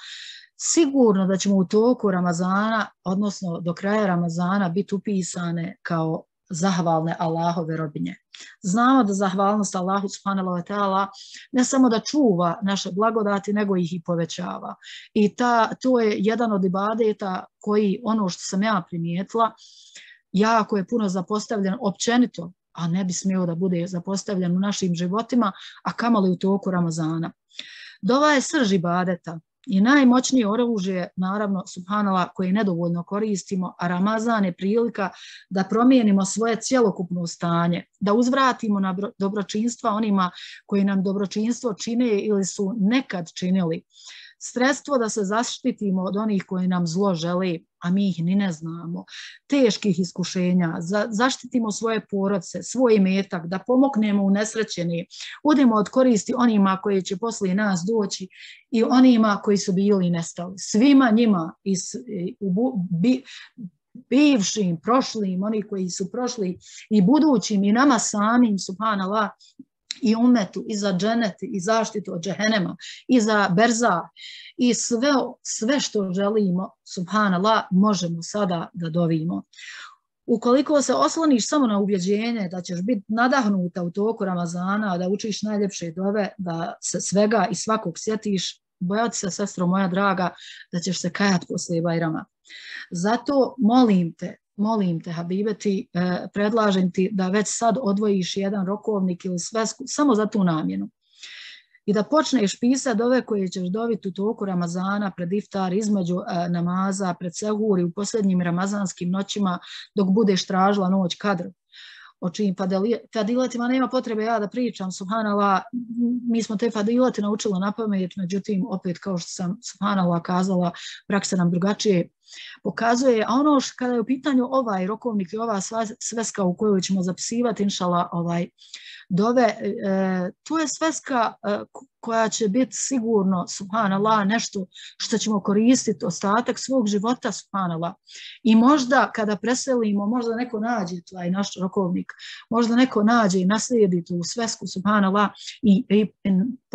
sigurno da ćemo u toku Ramazana, odnosno do kraja Ramazana, biti upisane kao zahvalne Allahove robinje. Znamo da zahvalnost Allahu subhanahu wa ta'ala ne samo da čuva naše blagodati, nego ih i povećava. I ta, to je jedan od ibadeta koji, ono što sam ja primijetila, jako je puno zapostavljen općenito, a ne bi smio da bude zapostavljen u našim životima, a kamoli u toku Ramazana. Dova je srž ibadeta i najmoćnije oružje, naravno, subhanallah, koje nedovoljno koristimo, a Ramazan je prilika da promijenimo svoje cjelokupno stanje, da uzvratimo na dobročinstva onima koji nam dobročinstvo čine ili su nekad činili. Sredstvo da se zaštitimo od onih koji nam zlo žele, a mi ih ni ne znamo, teških iskušenja, za, zaštitimo svoje porodce, svoj imetak, da pomognemo unesrećeni, budemo od koristi onima koji će poslije nas doći i onima koji su bili nestali. Svima njima, iz, u, bi, bivšim, prošlim, oni koji su prošli i budućim i nama samim, subhanallah, i umetu, i za dženet, i zaštitu od džehennema, i za berza, i sve, sve što želimo, subhanallah, možemo sada da dovimo. Ukoliko se osloniš samo na ubjeđenje da ćeš biti nadahnuta u toku Ramazana, da učiš najljepše dove, da se svega i svakog sjetiš, bojati se, sestro moja draga, da ćeš se kajati poslije Bajrama. Zato molim te, Molim te, Habibeti, eh, predlažem ti da već sad odvojiš jedan rokovnik ili svesku samo za tu namjenu. I da počneš pisati dove koje ćeš dobiti u toku Ramazana, pred iftar, između eh, namaza, pred sehur i u posljednjim ramazanskim noćima dok budeš tražila noć kadr. O čijim fadiletima nema potrebe ja da pričam, subhanallah, mi smo te fadilete naučili na pamet, međutim, opet kao što sam subhanallah kazala, praksa nam drugačije pokazuje, a ono što kada je u pitanju ovaj rokovnik i ova sveska u kojoj ćemo zapisivati, inšala, ovaj, dove, e, to je sveska e, koja će biti sigurno, subhanallah, nešto što ćemo koristiti ostatak svog života, subhanallah. I možda kada preselimo, možda neko nađe taj naš rokovnik, možda neko nađe i naslijedi tu svesku, subhanallah, i, i, i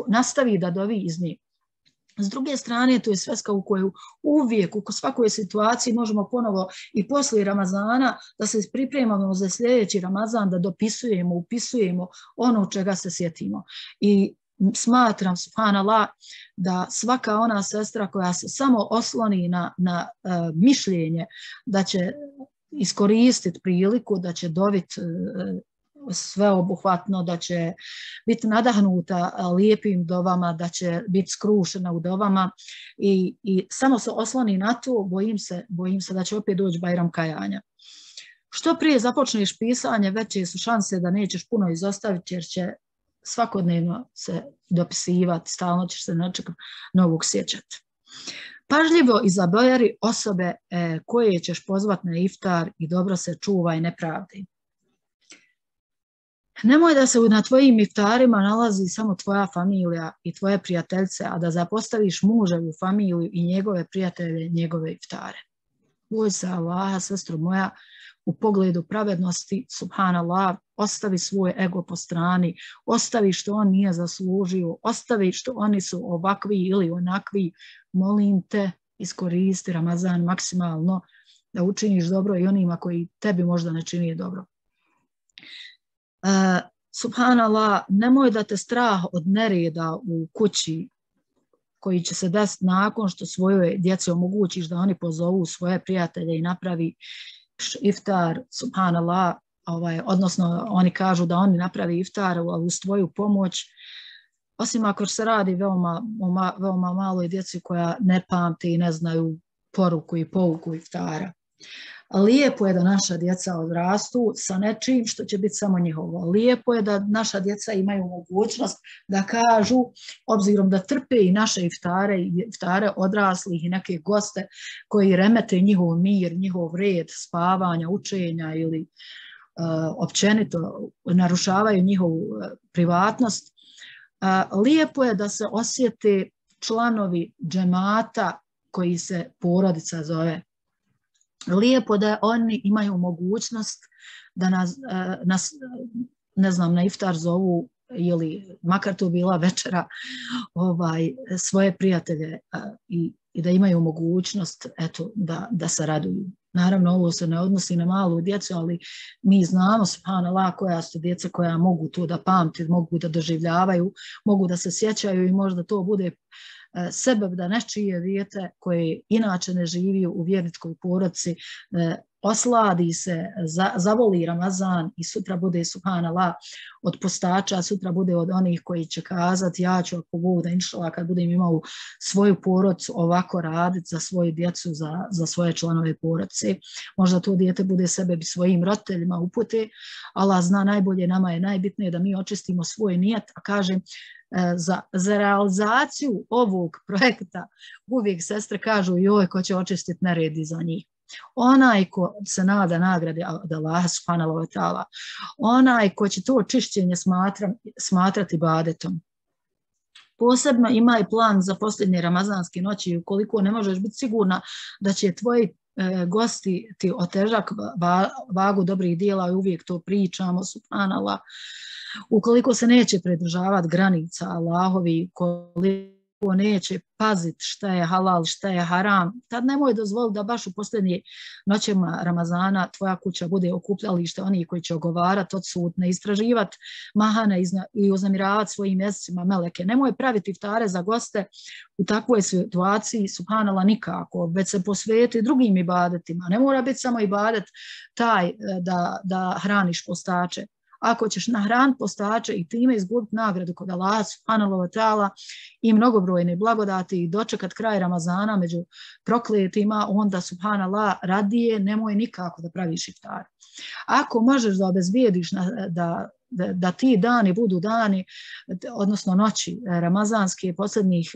nastavi da dovi iz nje. S druge strane, to je sveska u koju uvijek, u svakoj situaciji možemo ponovo i poslije Ramazana da se pripremamo za sljedeći Ramazan, da dopisujemo, upisujemo ono čega se sjetimo. I smatram, subhanallah, da svaka ona sestra koja se samo osloni na, na uh, mišljenje da će iskoristiti priliku, da će dobiti uh, sveobuhvatno, da će biti nadahnuta lijepim dovama, da će biti skrušena u dovama i, i samo se osloni na to, bojim se, bojim se da će opet doći Bajram kajanja. Što prije započneš pisanje, veće su šanse da nećeš puno izostaviti, jer će svakodnevno se dopisivati, stalno ćeš se nečeg novog sjećati. Pažljivo izaberi osobe e, koje ćeš pozvati na iftar i dobro se čuvaj nepravdi. Nemoj da se na tvojim iftarima nalazi samo tvoja familija i tvoje prijateljce, a da zapostaviš muževu familiju i njegove prijatelje, njegove iftare. Boj se Allaha, sestro moja, u pogledu pravednosti, subhanallah, ostavi svoj ego po strani, ostavi što on nije zaslužio, ostavi što oni su ovakvi ili onakvi, molim te, iskoristi Ramazan maksimalno da učiniš dobro i onima koji tebi možda ne čini dobro. Uh, subhanallah, nemoj da te strah od nereda u kući koji će se desiti nakon što svojoj djeci omogućiš da oni pozovu svoje prijatelje i napravi iftar, subhanallah, ovaj, odnosno oni kažu da oni napravi iftar, ali uz tvoju pomoć, osim ako se radi veoma, veoma maloj djeci koja ne pamti i ne znaju poruku i pouku iftara. Lijepo je da naša djeca odrastu sa nečim što će biti samo njihovo. Lijepo je da naša djeca imaju mogućnost da kažu, obzirom da trpe i naše iftare, iftare odraslih i neke goste koji remete njihov mir, njihov red spavanja, učenja ili uh, općenito narušavaju njihovu uh, privatnost. Uh, lijepo je da se osjete članovi džemata koji se porodica zove. Lijepo da oni imaju mogućnost da nas, nas ne znam, na iftar zovu ili makar to bila večera ovaj, svoje prijatelje i, i da imaju mogućnost eto, da, da se raduju. Naravno, ovo se ne odnosi na malu djecu, ali mi znamo, subhanallah, koja su djeca koja mogu to da pamti, mogu da doživljavaju, mogu da se sjećaju i možda to bude sebeb da nečije dijete koje inače ne živi u vjerničkoj porodici osladi se, za, zavoli Ramazan i sutra bude, subhanallah, od postača, sutra bude od onih koji će kazati ja ću ako Bog da inšala kad budem imao svoju porodicu ovako raditi za svoju djecu, za, za svoje članove porodice. Možda to dijete bude sebe bi svojim roditeljima upute, Allah zna najbolje, nama je najbitnije da mi očistimo svoj nijet, a kažem, Za, za realizaciju ovog projekta uvijek sestre kažu joj ko će očistiti neredi za njih. Onaj ko se nada nagrade od Allaha subhanahu wa ta'ala, onaj ko će to čišćenje smatra, smatrati ibadetom. Posebno ima i plan za posljednje ramazanske noći, ukoliko ne možeš biti sigurna da će tvoji e, gosti ti otežak va, vagu dobrih dijela i uvijek to pričamo, subhanallah. Ukoliko se neće pridržavati granica Allahovi, ukoliko neće paziti šta je halal, šta je haram, tad nemoj dozvoliti da baš u posljednje noćima Ramazana tvoja kuća bude okupljalište onih koji će ogovarati odsutne, istraživati mahane i uznemiravati svojim jezicima meleke. Nemoj praviti iftare za goste u takvoj situaciji, subhanallah, nikako, već se posvijeti drugim ibadetima. Ne mora biti samo ibadet taj da, da hraniš postače. Ako ćeš nahraniti postače i time izgubiti nagradu kod Allaha subhanahu wa ta'ala i mnogobrojne blagodati i dočekat kraj Ramazana među prokletima, onda subhanallah radije nemoj nikako da praviš iftar. Ako možeš da obezbijediš na, da da, da ti dani budu dani, odnosno noći ramazanske, posljednjih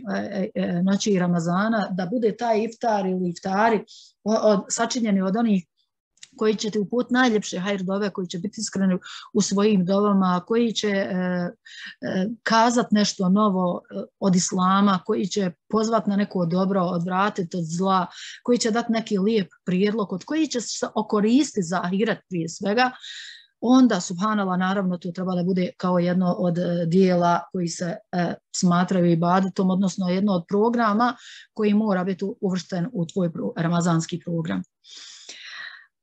noći Ramazana, da bude taj iftar ili iftari od, sačinjeni od onih koji će ti uputiti najljepše hajr dove, koji će biti iskreni u svojim dovama, koji će e, e, kazat nešto novo od islama, koji će pozvat na neko dobro, odvratiti od zla, koji će dati neki lijep prijedlog, od koji će se okoristiti za ahiret prije svega, onda, subhanallah, naravno, to treba da bude kao jedno od dijela koji se e, smatraju ibadetom, odnosno jedno od programa koji mora biti uvršten u tvoj pro, ramazanski program.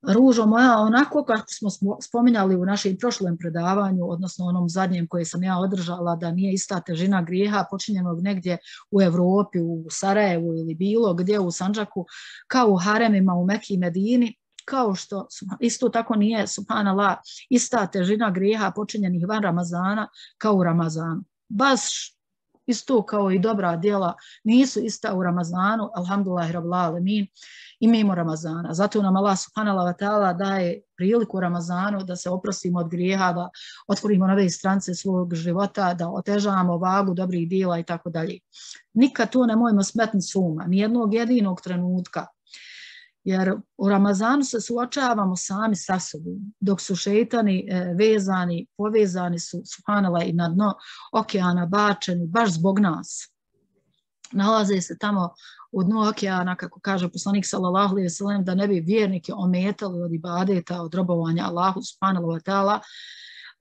Ružo moja, onako kako smo spominjali u našem prošlom predavanju, odnosno onom zadnjem koje sam ja održala, da nije ista težina grijeha počinjenog negdje u Evropi, u Sarajevu ili bilo gdje u Sandžaku, kao u haremima u Meki i Medini, kao što isto tako nije, subhanallah, ista težina grijeha počinjenih van Ramazana kao u Ramazanu. Baš isto kao i dobra djela nisu ista u Ramazanu, alhamdulillahi rabbil alemin, i mimo Ramazana. Zato nam Allah subhanahu wa ta'ala daje priliku u Ramazanu da se oprostimo od grijeha, da otvorimo nove strance svog života, da otežavamo vagu dobrih djela i tako dalje. Nikad to nemojmo smetni suma, nijednog jedinog trenutka. Jer u Ramazanu se suočavamo sami sa sobom, dok su šeitani e, vezani, povezani su, subhanallah, i na dno okeana bačeni, baš zbog nas. Nalaze se tamo u dnu okeana, kako kaže poslanik sallallahu alejhi ve sellem, da ne bi vjernike ometali od ibadeta, od robovanja Allahu subhanahu wa ta'ala.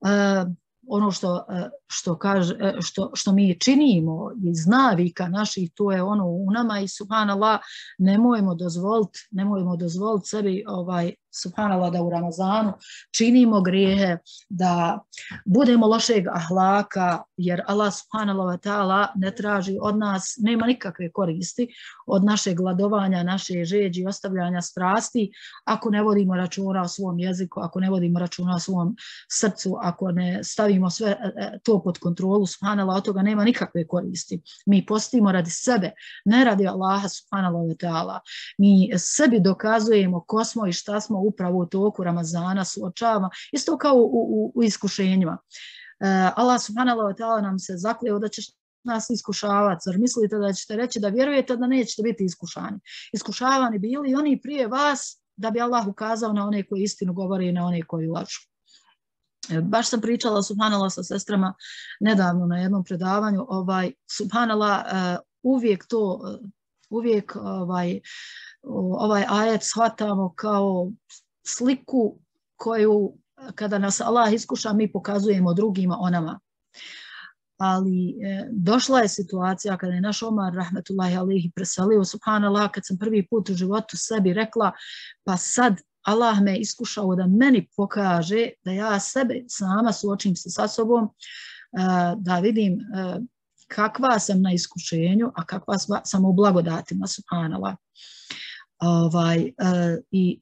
E, ono što, što, kaže, što, što mi činimo iz navika naših, to je ono u nama i subhanallah, nemojmo dozvoliti, nemojmo dozvoliti sebi ovaj, subhanallah, da u Ramazanu činimo grijehe, da budemo lošeg ahlaka, jer Allah subhanallah wa ta'ala ne traži od nas, nema nikakve koristi od našeg gladovanja, naše žeđi, ostavljanja strasti, ako ne vodimo računa o svom jeziku, ako ne vodimo računa o svom srcu, ako ne stavimo sve to pod kontrolu, subhanallah, od toga nema nikakve koristi. Mi postimo radi sebe, ne radi Allaha subhanallah wa ta'ala. Mi sebi dokazujemo ko smo i šta smo upravo u toku Ramazana suočava, isto kao u, u, u iskušenjima. Uh, Allah subhanahu wa ta'ala nam se zakleo da će nas iskušavati, zar mislite da ćete reći da vjerujete da nećete biti iskušani. Iskušavani bili i oni prije vas, da bi Allah ukazao na one koji istinu govore i na one koji lažu. Baš sam pričala subhanallah sa sestrama nedavno na jednom predavanju, ovaj, subhanallah, uh, uvijek to, uvijek ovaj, ovaj ajet shvatamo kao sliku koju kada nas Allah iskuša mi pokazujemo drugima o nama. Ali e, došla je situacija kada je naš Omar rahmetullahi alejhi preselio, subhanallah, kad sam prvi put u životu sebi rekla, pa sad Allah me iskušao da meni pokaže da ja sebe sama suočim se sa sobom, e, da vidim e, kakva sam na iskušenju, a kakva sam u blagodatima, subhanallah. Ovaj, uh, i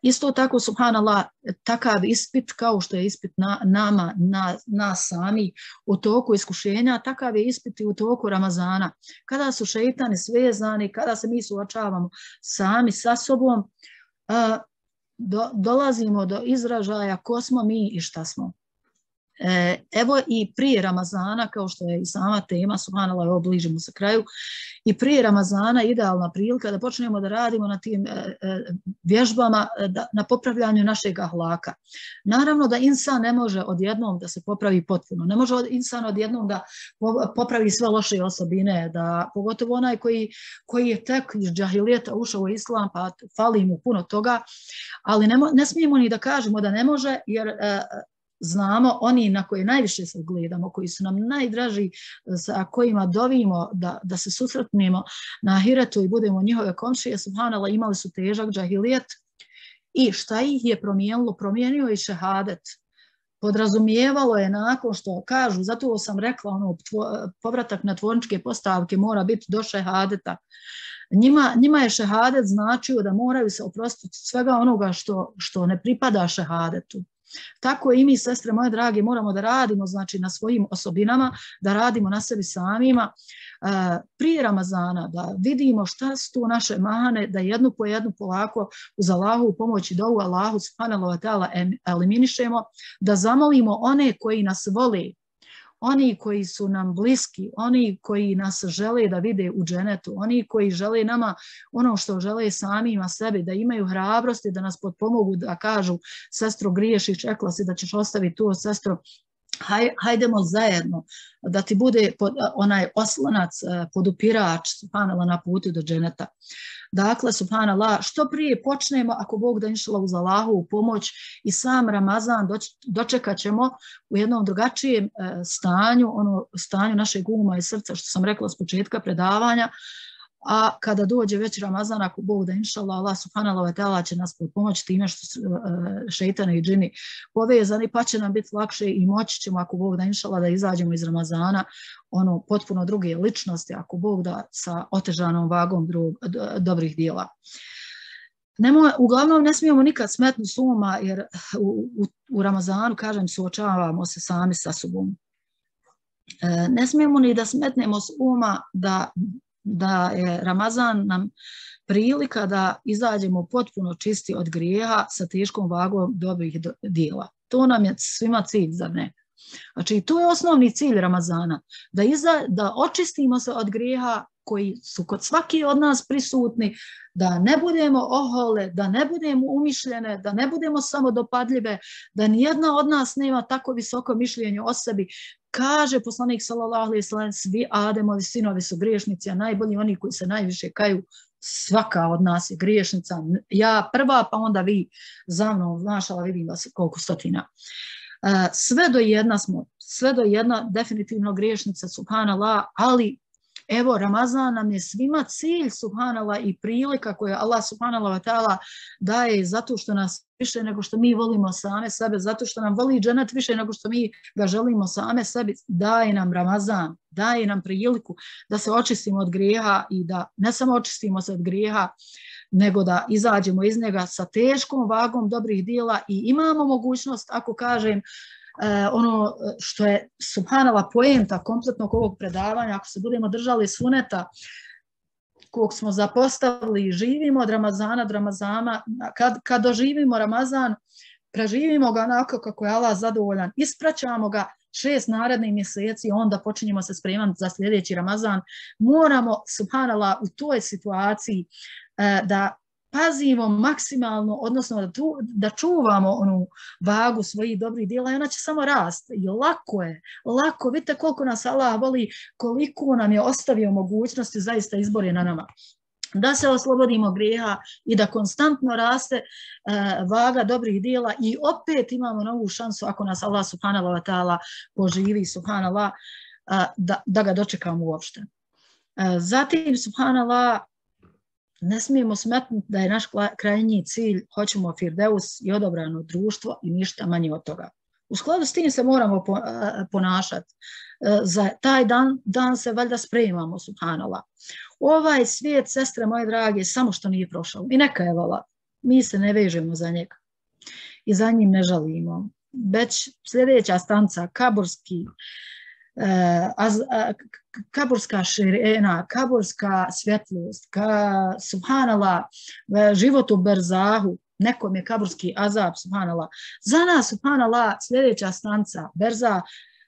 isto tako, subhanallah, takav ispit kao što je ispit na, nama, na, nas sami u toku iskušenja, takav je ispit i u toku Ramazana. Kada su šeitani svezani, kada se mi suočavamo sami sa sobom, uh, do, dolazimo do izražaja ko smo mi i šta smo. Evo i prije Ramazana, kao što je i sama tema, subhanallah, evo bližimo se kraju, i prije Ramazana idealna prilika da počnemo da radimo na tim vježbama, na popravljanju našeg ahlaka. Naravno da insan ne može odjednom da se popravi potpuno, ne može insan odjednom da popravi sve loše osobine, da, pogotovo onaj koji, koji je tek iz džahilijeta ušao u islam, pa fali mu puno toga, ali ne, ne smijemo ni da kažemo da ne može, jer znamo oni na koje najviše se gledamo, koji su nam najdraži, sa kojima dovimo da, da se susretnemo na ahiretu i budemo njihove komšije, subhanallah, imali su težak džahilijet. I šta ih je promijenilo? Promijenio je šehadet. Podrazumijevalo je nakon što kažu, zato sam rekla, ono, povratak na tvorničke postavke mora biti do šehadeta. Njima, njima je šehadet značio da moraju se oprostiti svega onoga što, što ne pripada šehadetu. Tako i mi, sestre moje drage, moramo da radimo znači, na svojim osobinama, da radimo na sebi samima prije Ramazana, da vidimo šta su tu naše mane, da jednu po jednu polako uz Allahovu pomoć i dovu Allahu subhanahu wa ta'ala eliminišemo, da zamolimo one koji nas vole, oni koji su nam bliski, oni koji nas žele da vide u dženetu, oni koji žele nama ono što žele samima sebi, da imaju hrabrosti, da nas potpomogu, da kažu sestro griješiš, rekla si da ćeš ostaviti tu, sestro, Haj, hajdemo zajedno, da ti bude pod, onaj oslonac, podupirač, subhanallah, na putu do dženeta. Dakle, subhanallah, što prije počnemo, ako Bog da inšala uz Allahovu pomoć i sam Ramazan dočekat ćemo u jednom drugačijem stanju, ono stanju našeg uma i srca, što sam rekla s početka predavanja, a kada dođe već Ramazan, ako Bog da inšala, Allah subhanahu wa ta'ala će nas pomoći time što su šeitani i džini povezani, pa će nam biti lakše i moći ćemo, ako Bog da inšala, da izađemo iz Ramazana ono potpuno druge ličnosti, ako Bog da sa otežanom vagom drug, dobrih dijela. Nemo, uglavnom ne smijemo nikad smetnuti s uma, jer u, u, u Ramazanu, kažem, suočavamo se sami sa sobom. E, ne smijemo ni da smetnemo s uma da da je Ramazan nam prilika da izađemo potpuno čisti od grijeha sa teškom vagom dobrih dijela. To nam je svima cilj, zar ne? Znači, to je osnovni cilj Ramazana, da, iza, da očistimo se od grijeha koji su kod svaki od nas prisutni, da ne budemo ohole, da ne budemo umišljene, da ne budemo samodopadljive, da nijedna od nas nema tako visoko mišljenje o sebi. Kaže poslanik sallallahu alejhi ve sellem, svi Ademovi sinovi su griješnici, a najbolji oni koji se najviše kaju. Svaka od nas je griješnica. Ja prva, pa onda vi za mnom, mašala, vidim vas koliko stotina. Sve do jedna smo, sve do jedna definitivno griješnica, subhanallah, ali evo, Ramazan nam je svima cilj, subhanallah, i prilika koju Allah subhanallah wa ta'ala daje zato što nas više nego što mi volimo same sebe, zato što nam voli dženet više nego što mi ga želimo same sebi, daje nam Ramazan, daje nam priliku da se očistimo od grijeha i da ne samo očistimo se od grijeha, nego da izađemo iz njega sa teškom vagom dobrih dijela i imamo mogućnost, ako kažem, Uh, ono što je subhanallah poenta kompletnog ovog predavanja, ako se budemo držali suneta kog smo zapostavili i živimo od Ramazana do Ramazana, kad, kad doživimo Ramazan, preživimo ga onako kako je Allah zadovoljan, ispraćamo ga šest narednih mjeseci, onda počinjemo se spremati za sljedeći Ramazan. Moramo, subhanallah, u toj situaciji uh, da pazimo maksimalno, odnosno da, tu, da čuvamo onu vagu svojih dobrih djela i ona će samo rasti. I lako je, lako, vidite koliko nas Allah voli, koliko nam je ostavio mogućnosti zaista izbor na nama. Da se oslobodimo grijeha i da konstantno raste uh, vaga dobrih djela i opet imamo novu šansu ako nas Allah subhanahu wa ta'ala poživi, subhanallah, uh, da, da ga dočekamo uopšte. Uh, zatim, subhanallah, ne smijemo smetnuti da je naš krajnji cilj, hoćemo firdeus i odobrano društvo i ništa manje od toga. U skladu s tim se moramo ponašati. Za taj dan, dan se valjda spremamo, subhanallah. Ovaj svijet, sestre moje drage, samo što nije prošao. I neka je vala. Mi se ne vežemo za njega. I za njim ne žalimo. Već sljedeća stanca, kaburski, Az, a, kaburska širena, kaburska svjetlost, ka, subhanallah, život u berzahu, nekom je kaburski azab, subhanallah. Za nas, subhanallah, sljedeća stanca, berza,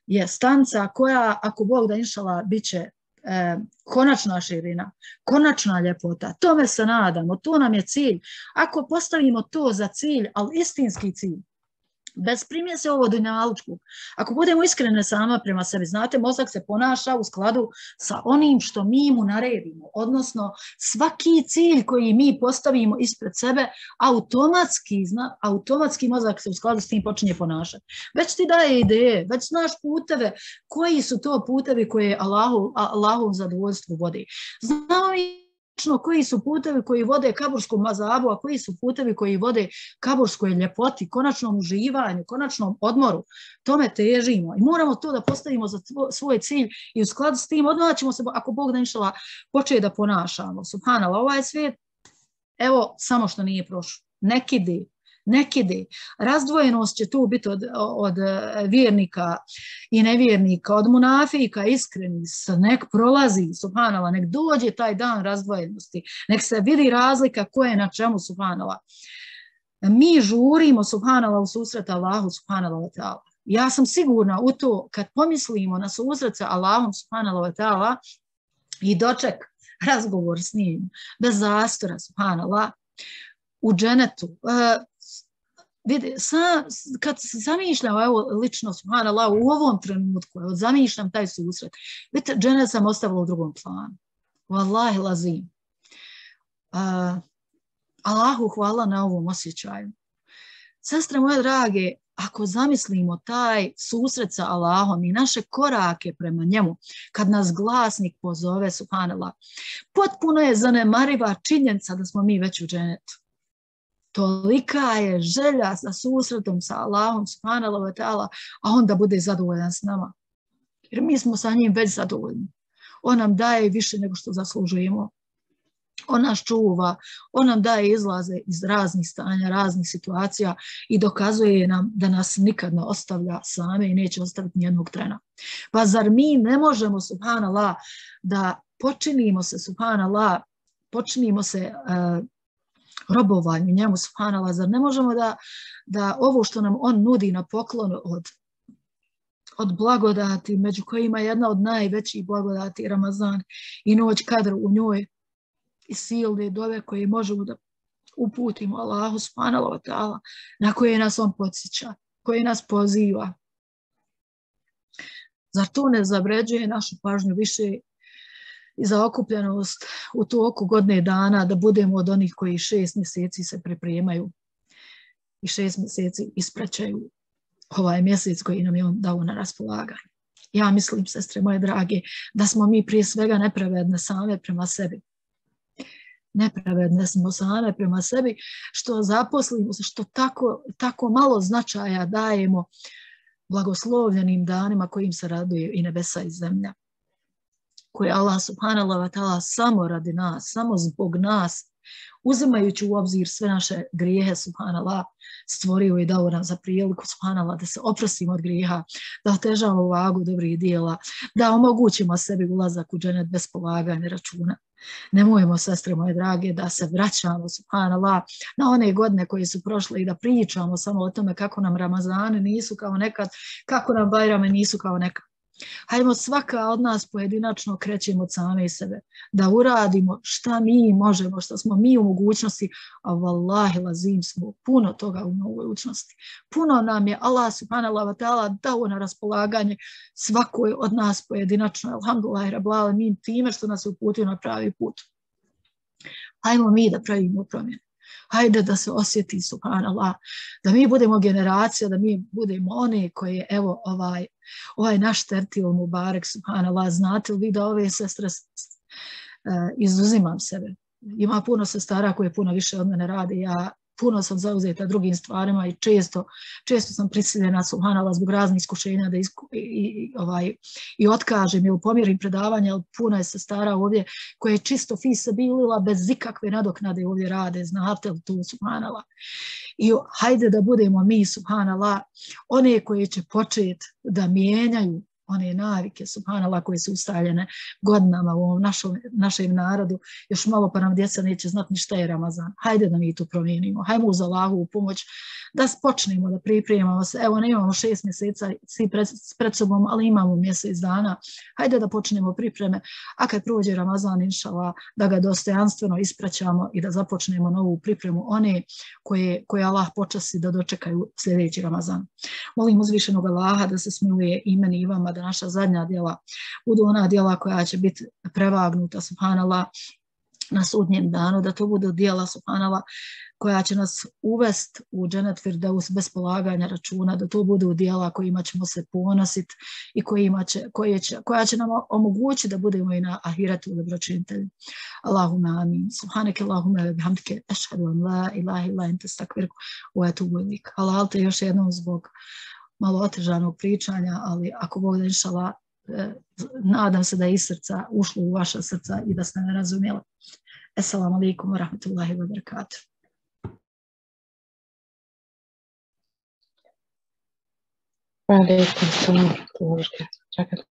je stanca koja, ako Bog da inšala, bit će e, konačna širina, konačna ljepota. Tome se nadamo, to nam je cilj. Ako postavimo to za cilj, ali istinski cilj, bez primjese ovo dunjalučkog. Ako budemo iskrene sama prema sebi, znate, mozak se ponaša u skladu sa onim što mi mu naredimo, odnosno svaki cilj koji mi postavimo ispred sebe, automatski, zna, automatski mozak se u skladu s tim počinje ponašati. Već ti daje ideje, već znaš puteve, koji su to putevi koje Allahu, Allahov zadovoljstvu vode. Znao i koji su putevi koji vode kaburskom mazabu, a koji su putevi koji vode kaburskoj ljepoti, konačnom uživanju, konačnom odmoru. Tome težimo i moramo to da postavimo za svoj cilj i u skladu s tim odmah ćemo se, ako Bog da inšala, početi da ponašamo. Subhanallah, ovaj svijet, evo, samo što nije prošlo. Neki di, nekide. Razdvojenost će tu biti od, od vjernika i nevjernika, od munafika, iskreni, nek prolazi, subhanallah, nek dođe taj dan razdvojenosti, nek se vidi razlika ko je na čemu, subhanallah. Mi žurimo, subhanallah, u susret Allahu, subhanallah, wa ta'ala. Ja sam sigurna u to, kad pomislimo na susret sa Allahom, subhanallah, wa ta'ala, i doček razgovor s njim, bez zastora, subhanallah, u dženetu. Uh, vidi, sa, kad se zamišljam, evo, lično, subhanallah, u ovom trenutku, evo, zamišljam taj susret, vidite, dženet sam ostavila u drugom planu. Wallahi lazim. Uh, Allahu hvala na ovom osjećaju. Sestre moje drage, ako zamislimo taj susret sa Allahom i naše korake prema njemu, kad nas glasnik pozove, subhanallah, potpuno je zanemariva činjenica da smo mi već u dženetu. Tolika je želja za susretom sa Allahom, subhanallah wa ta'ala, a on da bude zadovoljan s nama. Jer mi smo sa njim već zadovoljni. On nam daje više nego što zaslužujemo. On nas čuva, on nam daje izlaze iz raznih stanja, raznih situacija i dokazuje nam da nas nikad ne ostavlja same i neće ostaviti nijednog trena. Pa zar mi ne možemo, subhanallah, da počinimo se, subhanallah, počinimo se uh, robovanju njemu, subhanallah, zar ne možemo da, da ovo što nam on nudi na poklon od, od blagodati, među kojima je jedna od najvećih blagodati Ramazan i noć kadr u njoj, i silne dove koje možemo da uputimo Allahu subhanahu wa ta'ala, na koje nas on podsjeća, koje nas poziva. Zar to ne zavređuje našu pažnju više i zaokupljenost u toku godine dana da budemo od onih koji šest mjeseci se pripremaju i šest mjeseci ispraćaju ovaj mjesec koji nam je on dao na raspolaganje. Ja mislim, sestre moje drage, da smo mi prije svega nepravedne same prema sebi. Nepravedne smo same prema sebi, što zaposlimo se, što tako, tako malo značaja dajemo blagoslovljenim danima kojim se raduju i nebesa i zemlja. Koje Allah subhanallah wa ta'ala samo radi nas, samo zbog nas, uzimajući u obzir sve naše grijehe, subhanallah, stvorio i dao nam za priliku, subhanallah, da se oprostimo od grijeha, da otežamo vagu dobrih dijela, da omogućimo sebi ulazak u dženet bez polaganja računa. Nemojmo, sestre moje drage, da se vraćamo, subhanallah, na one godine koje su prošle i da pričamo samo o tome kako nam Ramazane nisu kao nekad, kako nam Bajrame nisu kao nekad. Hajmo svaka od nas pojedinačno krećemo od same sebe, da uradimo šta mi možemo, šta smo mi u mogućnosti, a vallahi lazim smo puno toga u mogućnosti. Puno nam je Allah subhanahu wa ta'ala dao na raspolaganje svakoj od nas pojedinačno, alhamdulillah, rabbil alamin, time što nas uputio na pravi put. Hajmo mi da pravimo promjene. Hajde da se osjeti, subhanallah, da mi budemo generacija, da mi budemo one koje, evo, ovaj, ovaj naš tertil Mubarek, subhanallah, znate li vi da ove sestre, uh, izuzimam sebe. Ima puno sestara koje puno više od mene radi, ja puno sam zauzeta drugim stvarima i često, često sam prisiljena, subhanallah, zbog raznih iskušenja da isku, i, i, ovaj, i otkažem ili pomjerim predavanja, ali puno je sestara ovdje koje je čisto fisabilila bez ikakve nadoknade ovdje rade, znate li tu, subhanallah. I hajde da budemo mi, subhanallah, one koje će početi da mijenjaju one navike, subhanallah, koje su ustaljene godinama u ovom našom, našem narodu, još malo pa nam djeca neće znati ni šta je Ramazan. Hajde da mi to promijenimo, hajmo uz Allahovu pomoć da počnemo da pripremamo se. Evo, ne imamo šest mjeseca svi pred, pred sobom, ali imamo mjesec dana. Hajde da počnemo pripreme, a kad prođe Ramazan, inšallah, da ga dostojanstveno ispraćamo i da započnemo novu pripremu one koje, koje Allah počasti da dočekaju sljedeći Ramazan. Molim uzvišenog Allaha da se smiluje i meni i vama, da naša zadnja djela budu ona djela koja će biti prevagnuta, subhanallah, na sudnjem danu, da to budu djela, subhanallah, koja će nas uvest u dženet firdeus bez polaganja računa, da to budu djela kojima ćemo se ponositi i kojima će, koje će, koja će nam omogućiti da budemo i na ahiretu dobročinitelji. Allahumma amin. Subhaneke Allahumma wa bihamdike, ashhadu an la ilaha illa ente, astakfiruke wa atubu ilaik. Halal te još jednom zbog malo otežanog pričanja, ali ako Bog da, inšallah, eh, nadam se da je iz srca ušlo u vaša srca i da ste me razumjeli. Assalamu alaikum wa rahmatullahi wa barakatuh. Alaikum salam wa rahmatullahi wa barakatuh.